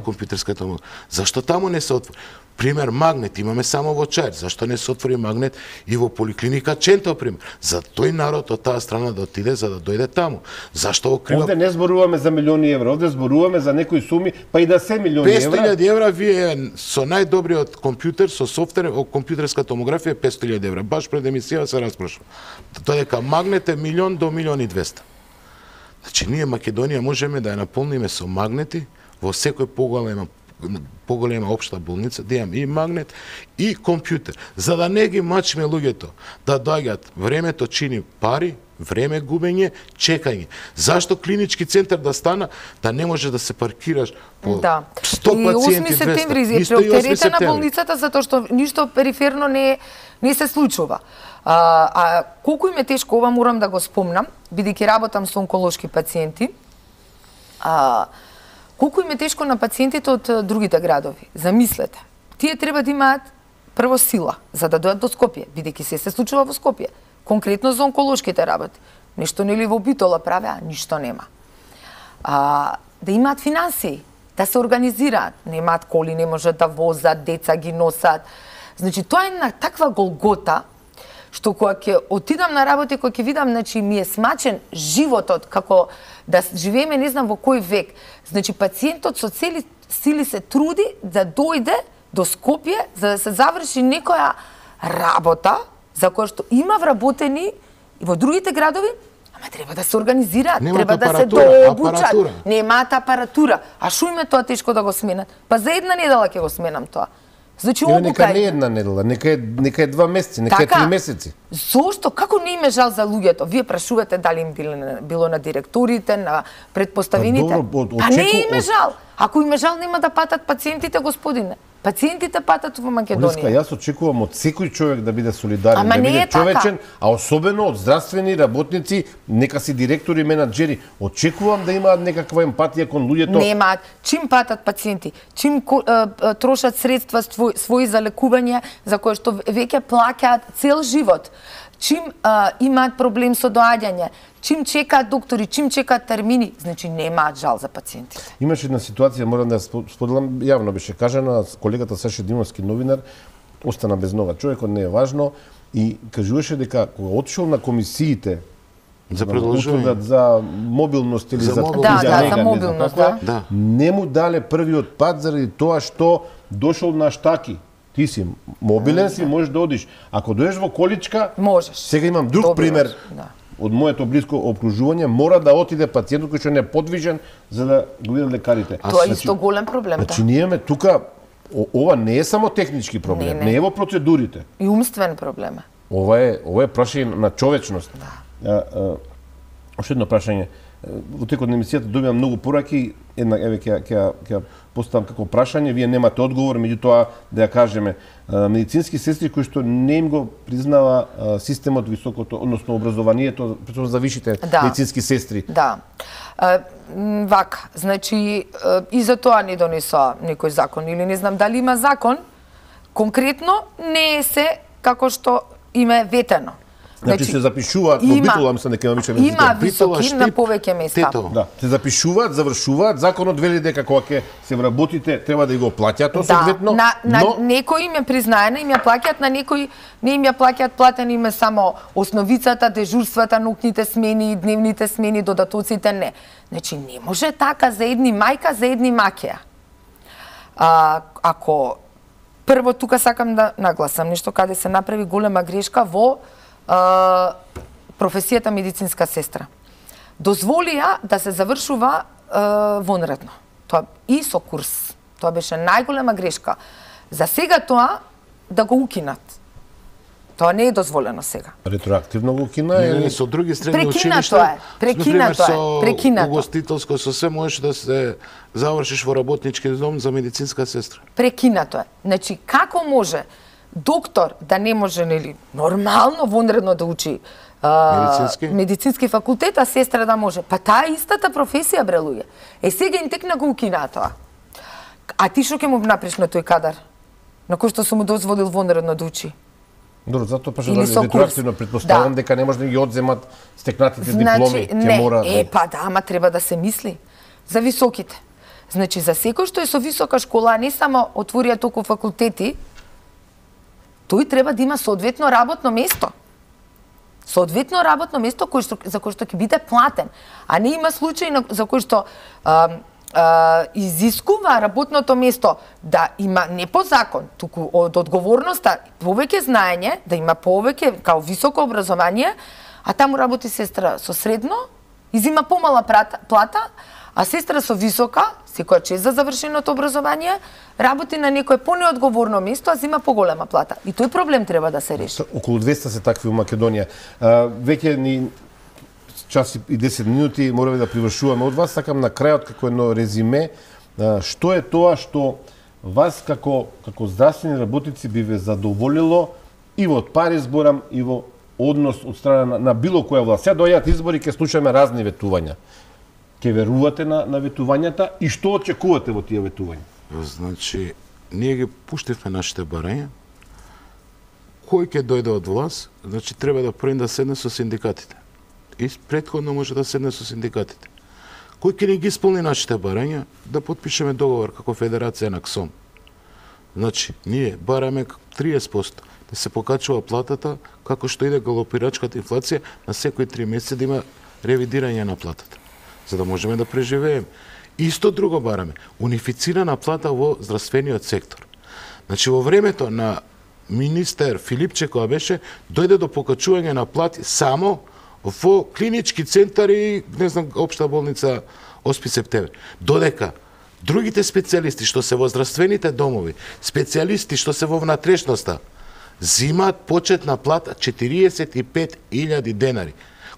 [SPEAKER 2] компјутерска томографија. Зашто таму не се отвори? Пример, магнет имаме само во Чаир. Зашто не се отвори магнет и во поликлиника Ченто, пример? За тој народ од таа страна да отиде, за да дојде таму. Зашто во Крила...
[SPEAKER 1] Овде не зборуваме за милиони евра, овде зборуваме за некои суми, па и да се милиони евра.
[SPEAKER 2] 500.000 евра вие со најдобриот компјутер, со софтвер, компјутерска томографија 500.000 евра. Баш пред емисија се распрошува. Тоа дека магнет е 1.000.000 до 1.200.000. Значи, ние Македонија можеме да ја наполниме со магнети во секој поголема општа болница, да имам и магнет и компјутер, за да не ги мачиме луѓето, да доаѓаат. Времето чини пари, време губење, чекање. Зашто клинички центар да стана, да не може да се паркираш по 100 пациенти, 200?
[SPEAKER 3] 8 септември е преоптеретена болницата затоа што ништо периферно не се случува. Колку им е тешко, ова морам да го спомнам, бидејќи работам со онколошки пациенти. Колку им е тешко на пациентите од другите градови. Замислете. Тие треба да имаат прво сила за да дојдат до Скопје, бидејќи се случува во Скопје. Конкретно за онколошките работи. Нешто нели во Битола правеа, ништо нема. Да имаат финансии, да се организираат. Немаат коли, не можат да возат, деца ги носат. Значи, тоа е на таква голгота, што кога ќе отидам на работа и кога ќе видам, значи, ми е смачен животот, како да живееме не знам во кој век. Значи, пациентот со цели сили се труди да дојде до Скопје за да се заврши некоја работа за која што има вработени и во другите градови, ама треба да се организираат, треба да се дообучат. Немаат апаратура. А шо им е тоа тешко да го сменат? Па за една недела ќе го сменам тоа. Значи,
[SPEAKER 1] нека не една недела, нека е 2 месеци, нека е 3 месеци.
[SPEAKER 3] Зошто? Како не им е жал за луѓето? Вие прашувате дали им било на директорите, на предпоставените. А не им е жал. Ако им е жал, нема да патат пациентите, господине. Пациентите патат во Македонија.
[SPEAKER 1] Јас очекувам од секој човек да биде солидарен, да биде човечен, а особено од здравствени работници, нека си директори, менаџери. Очекувам да имаат некаква емпатија кон луѓето.
[SPEAKER 3] Немаат. Чим патат пациенти, чим трошат средства своји за лекување, за кое што веќе плаќаат цел живот, чим имаат проблем со доаѓање, чим чекаат доктори, чим чекаат термини, значи немаат жал за пациентите.
[SPEAKER 1] Имаше една ситуација, морам да споделам, јавно беше кажана, колегата Саше Димовски, новинар, остана без нога. Човекот не е важно и кажуваше дека кога отишол на комисиите
[SPEAKER 2] за предложување
[SPEAKER 1] за мобилност или за
[SPEAKER 3] мобилност,
[SPEAKER 1] не му дале првиот пат заради тоа што дошол на штаки. Ти си мобилен си, можеш да одиш. Ако доеш во количка,
[SPEAKER 3] можеш.
[SPEAKER 1] Сега имам друг пример. Од моето блиско окружување, мора да отиде пациентот кој што не е подвижен за да го видат лекарите.
[SPEAKER 3] Тоа е исто голем проблем.
[SPEAKER 1] Значи ние имаме тука, ова не е само технички проблем, не е во процедурите.
[SPEAKER 3] И умствен проблем.
[SPEAKER 1] Ова е прашање на човечност. Уште едно прашање. Во текот на емисијата добивам многу пораки, една еве ќе поставам како прашање, вие немате одговор, меѓутоа да ја кажеме, медицински сестри кои што не им го признава системот високото, односно образованието за висшите медицински сестри.
[SPEAKER 3] Да. Вака, значи и за тоа не донесоа некој закон или не знам дали има закон, конкретно не е се како што им е ветено.
[SPEAKER 1] Значи се запишуваат, во Битола мислам дека има више медицински.
[SPEAKER 3] Има високи на повеќе места.
[SPEAKER 1] Да, се запишуваат, завршуваат, законот вели дека кога ќе се вработите треба да го плаќаат соодветно.
[SPEAKER 3] На некои им е признаено, им ја плаќаат, на некои не им ја плаќаат, платени им е само основицата, дежурствата, ноќните смени, дневните смени, додатоците не. Значи не може така за едни мајка, за едни макеа. Ако прво тука сакам да нагласам нешто каде се направи голема грешка во професијата медицинска сестра. Дозволија да се завршува вонредно. Тоа и со курс. Тоа беше најголема грешка. За сега тоа да го укинат. Тоа не е дозволено сега.
[SPEAKER 1] Ретроактивно го укина или
[SPEAKER 2] со други средни
[SPEAKER 3] Прекина
[SPEAKER 2] училишта?
[SPEAKER 3] тоа е. Прекина тоа е. Прекина
[SPEAKER 2] Со
[SPEAKER 3] тоа.
[SPEAKER 2] угостителско, со све можеш да се завршиш во работнички дом за медицинска сестра.
[SPEAKER 3] Прекинато е. Значи, како може доктор да не може, нели, нормално вонредно да учи медицински факултет, а сестра да може? Па таа е истата професија, бре, луѓе. Сега им текна го укина тоа. А ти што ќе му направиш на тој кадар? На кој што сум му дозволил вонредно да учи?
[SPEAKER 1] Добро, затоа па
[SPEAKER 3] Или со
[SPEAKER 1] ретроактивно
[SPEAKER 3] курс.
[SPEAKER 1] претпоставам
[SPEAKER 3] Да.
[SPEAKER 1] дека не може да ги одземат стекнатите дипломи,
[SPEAKER 3] Значи,
[SPEAKER 1] ќе
[SPEAKER 3] не,
[SPEAKER 1] мора.
[SPEAKER 3] па да, ама треба да се мисли за високите. Значи, за секој што е со висока школа, а не само отворија толку факултети, тој треба да има соодветно работно место. Соодветно работно место за кое што ќе биде платен. А не има случаи за кој што изискува работното место да има не по закон, туку од одговорноста повеќе знаење, да има повеќе као високо образование, а таму работи сестра со средно, изима помала плата, а сестра со висока, секоја чест за завршеното образование, работи на некое понеодговорно место, а зима поголема плата. И тој проблем треба да се реши.
[SPEAKER 1] Околу 200 се такви во Македонија. Веќе ни час и 10 минути мораме да привршуваме од вас. Сакам на крајот како едно резиме, што е тоа што вас како здравствени работници би ве задоволило и во пари зборам и во однос од страна на било која власт. Сега доаѓаат избори, ќе слушаме разни ветувања. Ќе верувате на ветувањата и што очекувате во тие ветувања?
[SPEAKER 2] Значи, ние ги пуштивме нашите барања. Кој ќе дојде од власт, значи треба да први да седне со синдикатите. И претходно може да седне со синдикатите. Кој ќе ни ги исполни нашите барања, да потпишеме договор како Федерација на КСОМ. Значи, ние бараме 30% да се покачува платата, како што иде галопирачката инфлација, на секои 3 месеци да има ревидирање на платата, за да можеме да преживееме. Исто друго бараме, унифицирана плата во здравствениот сектор. Значи, во времето на министер Филипче, која беше, дојде до покачување на плати само во клинички центари, не знам, општа болница Оспи Септември. Додека другите специјалисти што се во здравствените домови, специјалисти што се во внатрешноста, зимаат почетна плата 45.000 денари.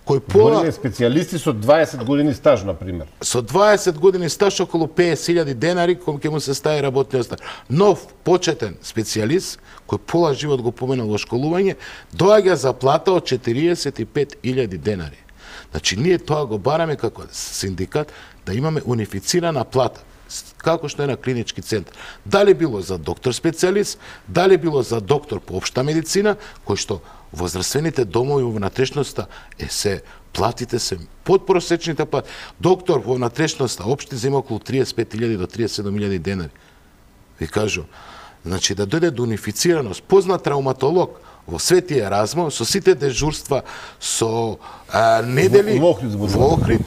[SPEAKER 2] Кој пола
[SPEAKER 1] специјалисти со 20 години стаж, на пример.
[SPEAKER 2] Со 20 години стаж околу 50.000 денари кога ќе му се стаи работниот стаж. Нов почетен специјалист кој пола живот го поменал во школување, доаѓа за плата од 45.000 денари. Значи ние тоа го бараме како синдикат да имаме унифицирана плата, како што е на клинички центар. Дали било за доктор специјалист, дали било за доктор по општа медицина, кој што во здравствените домови во внатрешноста се платите се подпросечните плати. Доктор во внатрешноста општи зема околу 35.000 до 37.000 денари. Ви кажу, значи да дојде до унифицираност, познат травматолог во Свети Еразмо, со сите дежурства, со недели
[SPEAKER 1] во Охрид,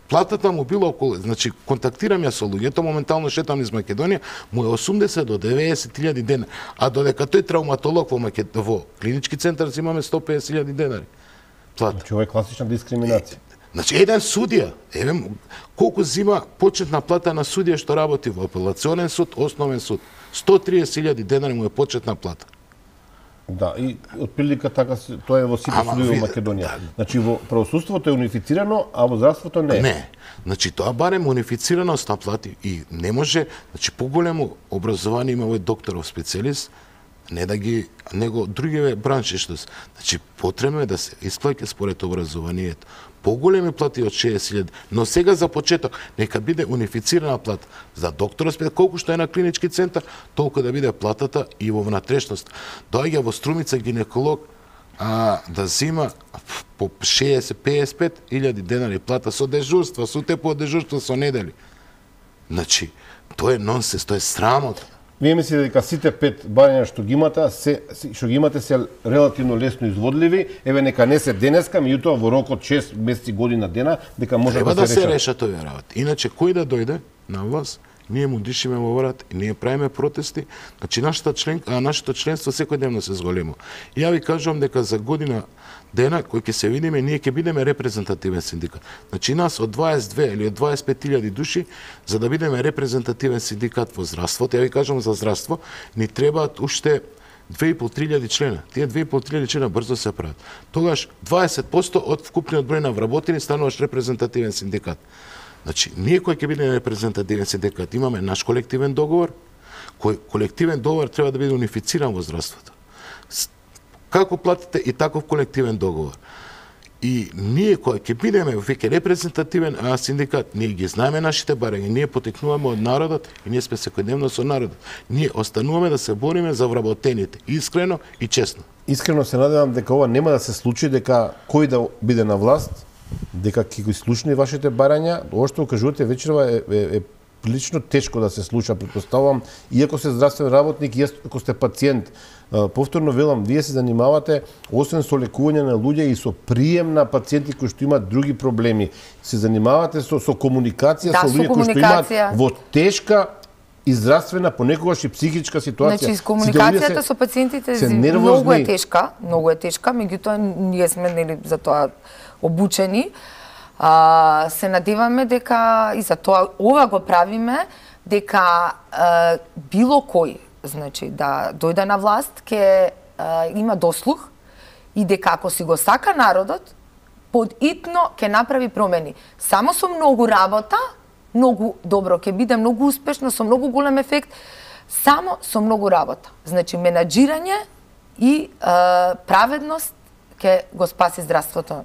[SPEAKER 2] платата му била околу, значи контактирам ја со луѓето, моментално шетам из Македонија, му е 80 до 90.000 денари, а додека тој травматолог во клинички центар зимаме 150.000 денари плата.
[SPEAKER 1] Значи ова е класична дискриминација.
[SPEAKER 2] Значи еден судија, колку зима почетна плата на судија што работи во апелационен суд, основен суд, 130.000 денари му е почетна плата.
[SPEAKER 1] Да, и отприлика така тоа е во сите судови во Македонија. Значи во правосудството е унифицирано, а во здравството не е.
[SPEAKER 2] Не. Значи тоа барем унифицираност на плати и не може, значи поголемо образование има овој докторов специјалист, не да ги него другиве бранши што се. Значи потребно е да се исплаќа според образованието. Поголеми плати од 60.000, но сега за почеток нека биде унифицирана плата за докторот, колку што е на клинички центар, толку да биде платата и во внатрешност. Доаѓа во Струмица гинеколог да зима по 60-55.000 денари плата со дежурства, со тепо дежурства со недели. Значи, тоа е нонсенс, тоа е срамота.
[SPEAKER 1] Вие мислите дека сите 5 барања што ги имате се релативно лесно изводливи, еве нека не се денеска, меѓутоа во рок од 6 месеци, година, дена, дека може
[SPEAKER 2] Треба
[SPEAKER 1] да се решат.
[SPEAKER 2] Треба да се решат овие работи. Иначе кој да дојде на власт, ние му дишиме во врат и ние правиме протести. Значи нашето членство секојдневно се зголемува. И ја ви кажувам дека за година дена кој ќе се видиме, ние ќе бидеме репрезентативен синдикат. Значи нас од 22 или од 25.000 души, за да бидеме репрезентативен синдикат во здравството, ја ви кажам за здравство, ни требаат уште 2.500 члена. Тие 2.500 члена брзо се прават. Тогаш 20% од вкупниот број на вработени стануваш репрезентативен синдикат. Значи, ние кој ќе биде репрезентативен синдикат, имаме наш колективен договор, кој колективен договор треба да биде унифициран во здравството. Како платите и таков колективен договор. И ние кој ќе бидеме веќе репрезентативен синдикат, ние ги знаеме нашите барања, ние потекнуваме од народот и ние сме секојдневно со народот. Ние остануваме да се бориме за вработените, искрено и честно.
[SPEAKER 1] Искрено се надевам дека ова нема да се случи, дека кој да биде на власт, дека ќе ги слушне вашите барања. Ова што кажувате вечерва е прилично тешко да се слуша, претпоставувам, иако сте здравствен работник, иако сте пациент. Повторно велам, вие се занимавате освен со лекување на луѓе и со прием на пациенти кои што имаат други проблеми. Се занимавате со комуникација со луѓе кои што имаат во тешка и здравствена, понекогаш и психичка ситуација.
[SPEAKER 3] Значи, комуникацијата со пациентите многу е тешка, меѓутоа ние сме нели за тоа обучени. Се надеваме дека и за тоа ова го правиме, дека било кој, значи да дојде на власт, ќе има дослух и дека ако си го сака народот, подитно ќе направи промени. Само со многу работа, многу добро ќе биде, многу успешно, со многу голем ефект, само со многу работа. Значи менаџирање и праведност ќе го спаси здравството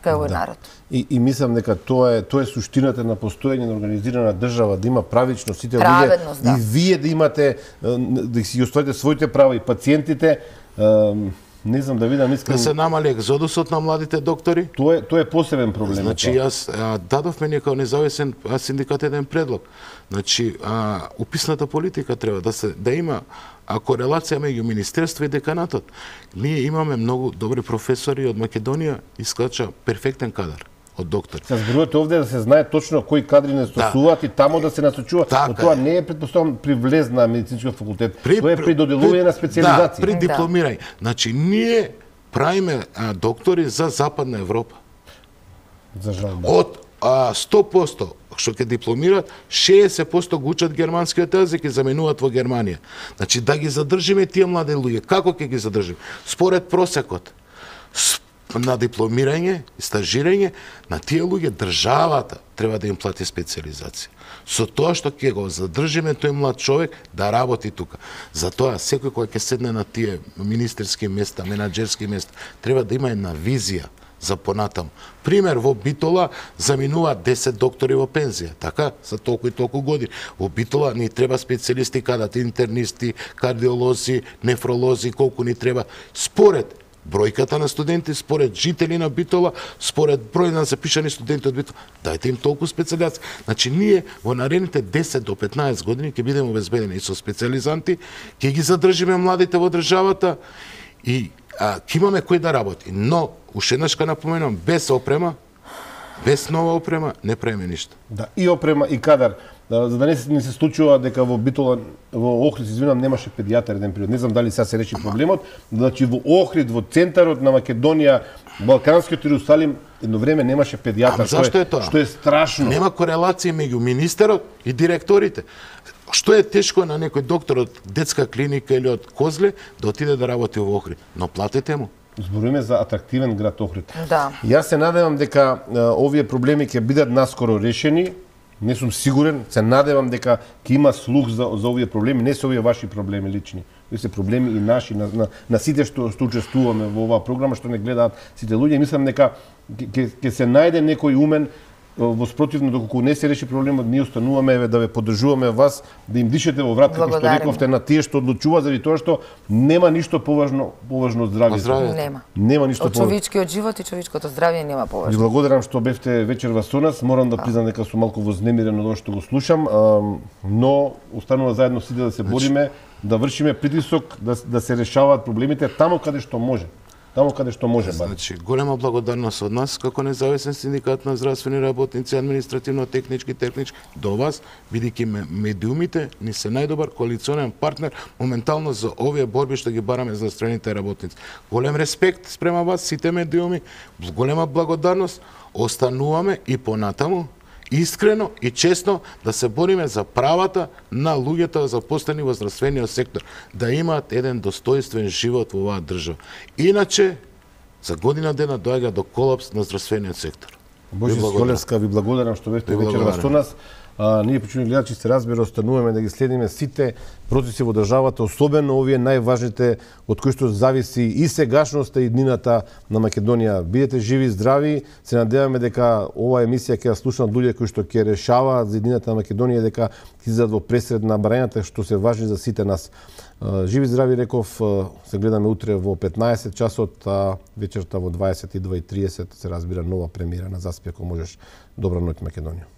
[SPEAKER 3] кај овој народ.
[SPEAKER 1] И мислам дека тоа е суштината на постоење на организирана држава, да има правично сите луѓе и вие да имате, да си оставите своите права и пациентите. Не знам да видам, искам...
[SPEAKER 2] Да се намали екзодусот на младите доктори?
[SPEAKER 1] Тоа е посебен проблем.
[SPEAKER 2] Значи, јас дадовме некао независен синдикат еден предлог. Значи, уписната политика треба да има корелација меѓу Министерство и деканатот. Ние имаме многу добри професори од Македонија, искача перфектен кадар од доктори.
[SPEAKER 1] Се зборувате овде да се знае точно кои кадри не стосуваат и тамо да се насочува, но тоа не е предпоставам при влез на медицинскиот факултет, тоа е при доделување на специализација.
[SPEAKER 2] Да, при дипломирање. Значи, ние правиме доктори за Западна Европа.
[SPEAKER 1] За жал.
[SPEAKER 2] Од 100% што ќе дипломираат, 60% го учат германскиот јазик и заменуваат во Германија. Значи, да ги задржиме тие млади луѓе, како ќе ги задржиме? Според просекот на дипломирање и стажирање, на тие луѓе државата треба да им плати специализација. Со тоа што ќе го задржиме тој млад човек да работи тука. Затоа секој кој ќе седне на тие министерски места, менаџерски места, треба да има една визија за понатаму. Пример, во Битола заминуваат 10 доктори во пензија, така, за толку и толку години. Во Битола ни треба специјалисти, кадат интернисти, кардиолози, нефролози, колку ни треба. Според бројката на студенти, според жители на Битола, според број на запишани студенти од Битола, дајте им толку специјализација. Значи, ние во наредните 10 до 15 години ќе бидеме обезбедени со специјализанти, ќе ги задржиме младите во државата и ќе имаме кој да работи. Но, уште еднаш ка напоменам, без опрема, без нова опрема, не правиме ништо.
[SPEAKER 1] Да, и опрема, и кадар. За да не се случува дека во Битола, во Охрид, извинам, немаше педијатар еден период. Не знам дали сега се реши проблемот. Значи, во Охрид, во центарот на Македонија, Балканскиот Иерусалим, едно време немаше педијатар.
[SPEAKER 2] Зашто е тоа?
[SPEAKER 1] Што е страшно.
[SPEAKER 2] Нема корелација меѓу министерот и директорите. Што е тешко на некој доктор од детска клиника или од Козле да отиде да работи во Охрид, но платете му.
[SPEAKER 1] Зборуваме за атрактивен град Охрид.
[SPEAKER 3] Да.
[SPEAKER 1] Јас се надевам дека овие проблеми ќе бидат наскоро решени. Не сум сигурен, се надевам дека ќе има слух за овие проблеми, не се овие ваши проблеми лични. Овие се проблеми и наши на сите што учествуваме во оваа програма, што не гледаат сите луѓе. Мислам дека ќе се најде некој умен. Во спротивно, доколку не се реши проблемот, ние остануваме да ве поддржуваме вас, да им дишете во врат, како што рековте, на тие што одлучува, заради тоа што нема ништо поважно од здравјето. Нема ништо
[SPEAKER 3] поважно. Од човечкиот живот и човечкото здравје нема поважно.
[SPEAKER 1] Ви благодарам што бевте вечерва со нас. Морам да признам дека сум малку вознемирен од ова што го слушам, но останува заедно сите да се бориме, да вршиме притисок, да се решаваат проблемите таму каде што може. таму каде што може барем.
[SPEAKER 2] Значи, голема благодарност од нас како независен синдикат на здравствени работници, административно-технички, технички до вас, бидејќи медиумите ни се најдобар коалиционен партнер моментално за овие борби што ги бараме за здравствените работници. Голем респект спрема вас сите медиуми, голема благодарност, остануваме и понатаму искрено и честно да се бориме за правата на луѓето запослени во здравствениот сектор, да имаат еден достоинствен живот во оваа држава. Иначе, за година дена доаѓа до колапс на здравствениот сектор.
[SPEAKER 1] Божи Сколевска, ви благодарам што бевте вечерва со нас. Ние, почитувани гледачи, се разбира, остануваме да ги следиме сите процеси во државата, особено овие најважните од кои што зависи и сегашноста и днината на Македонија. Бидете живи, здрави, се надеваме дека оваа емисија ќе ја слушнат луѓе кои што ќе решаваат за днината на Македонија, дека ќе излезат во пресред на барањата што се важни за сите нас. Живи, здрави, реков, се гледаме утре во 15 часот, а вечерта во 22:30 се разбира нова премиера на Заспи, ако можеш. Добра ноќ, Македонија.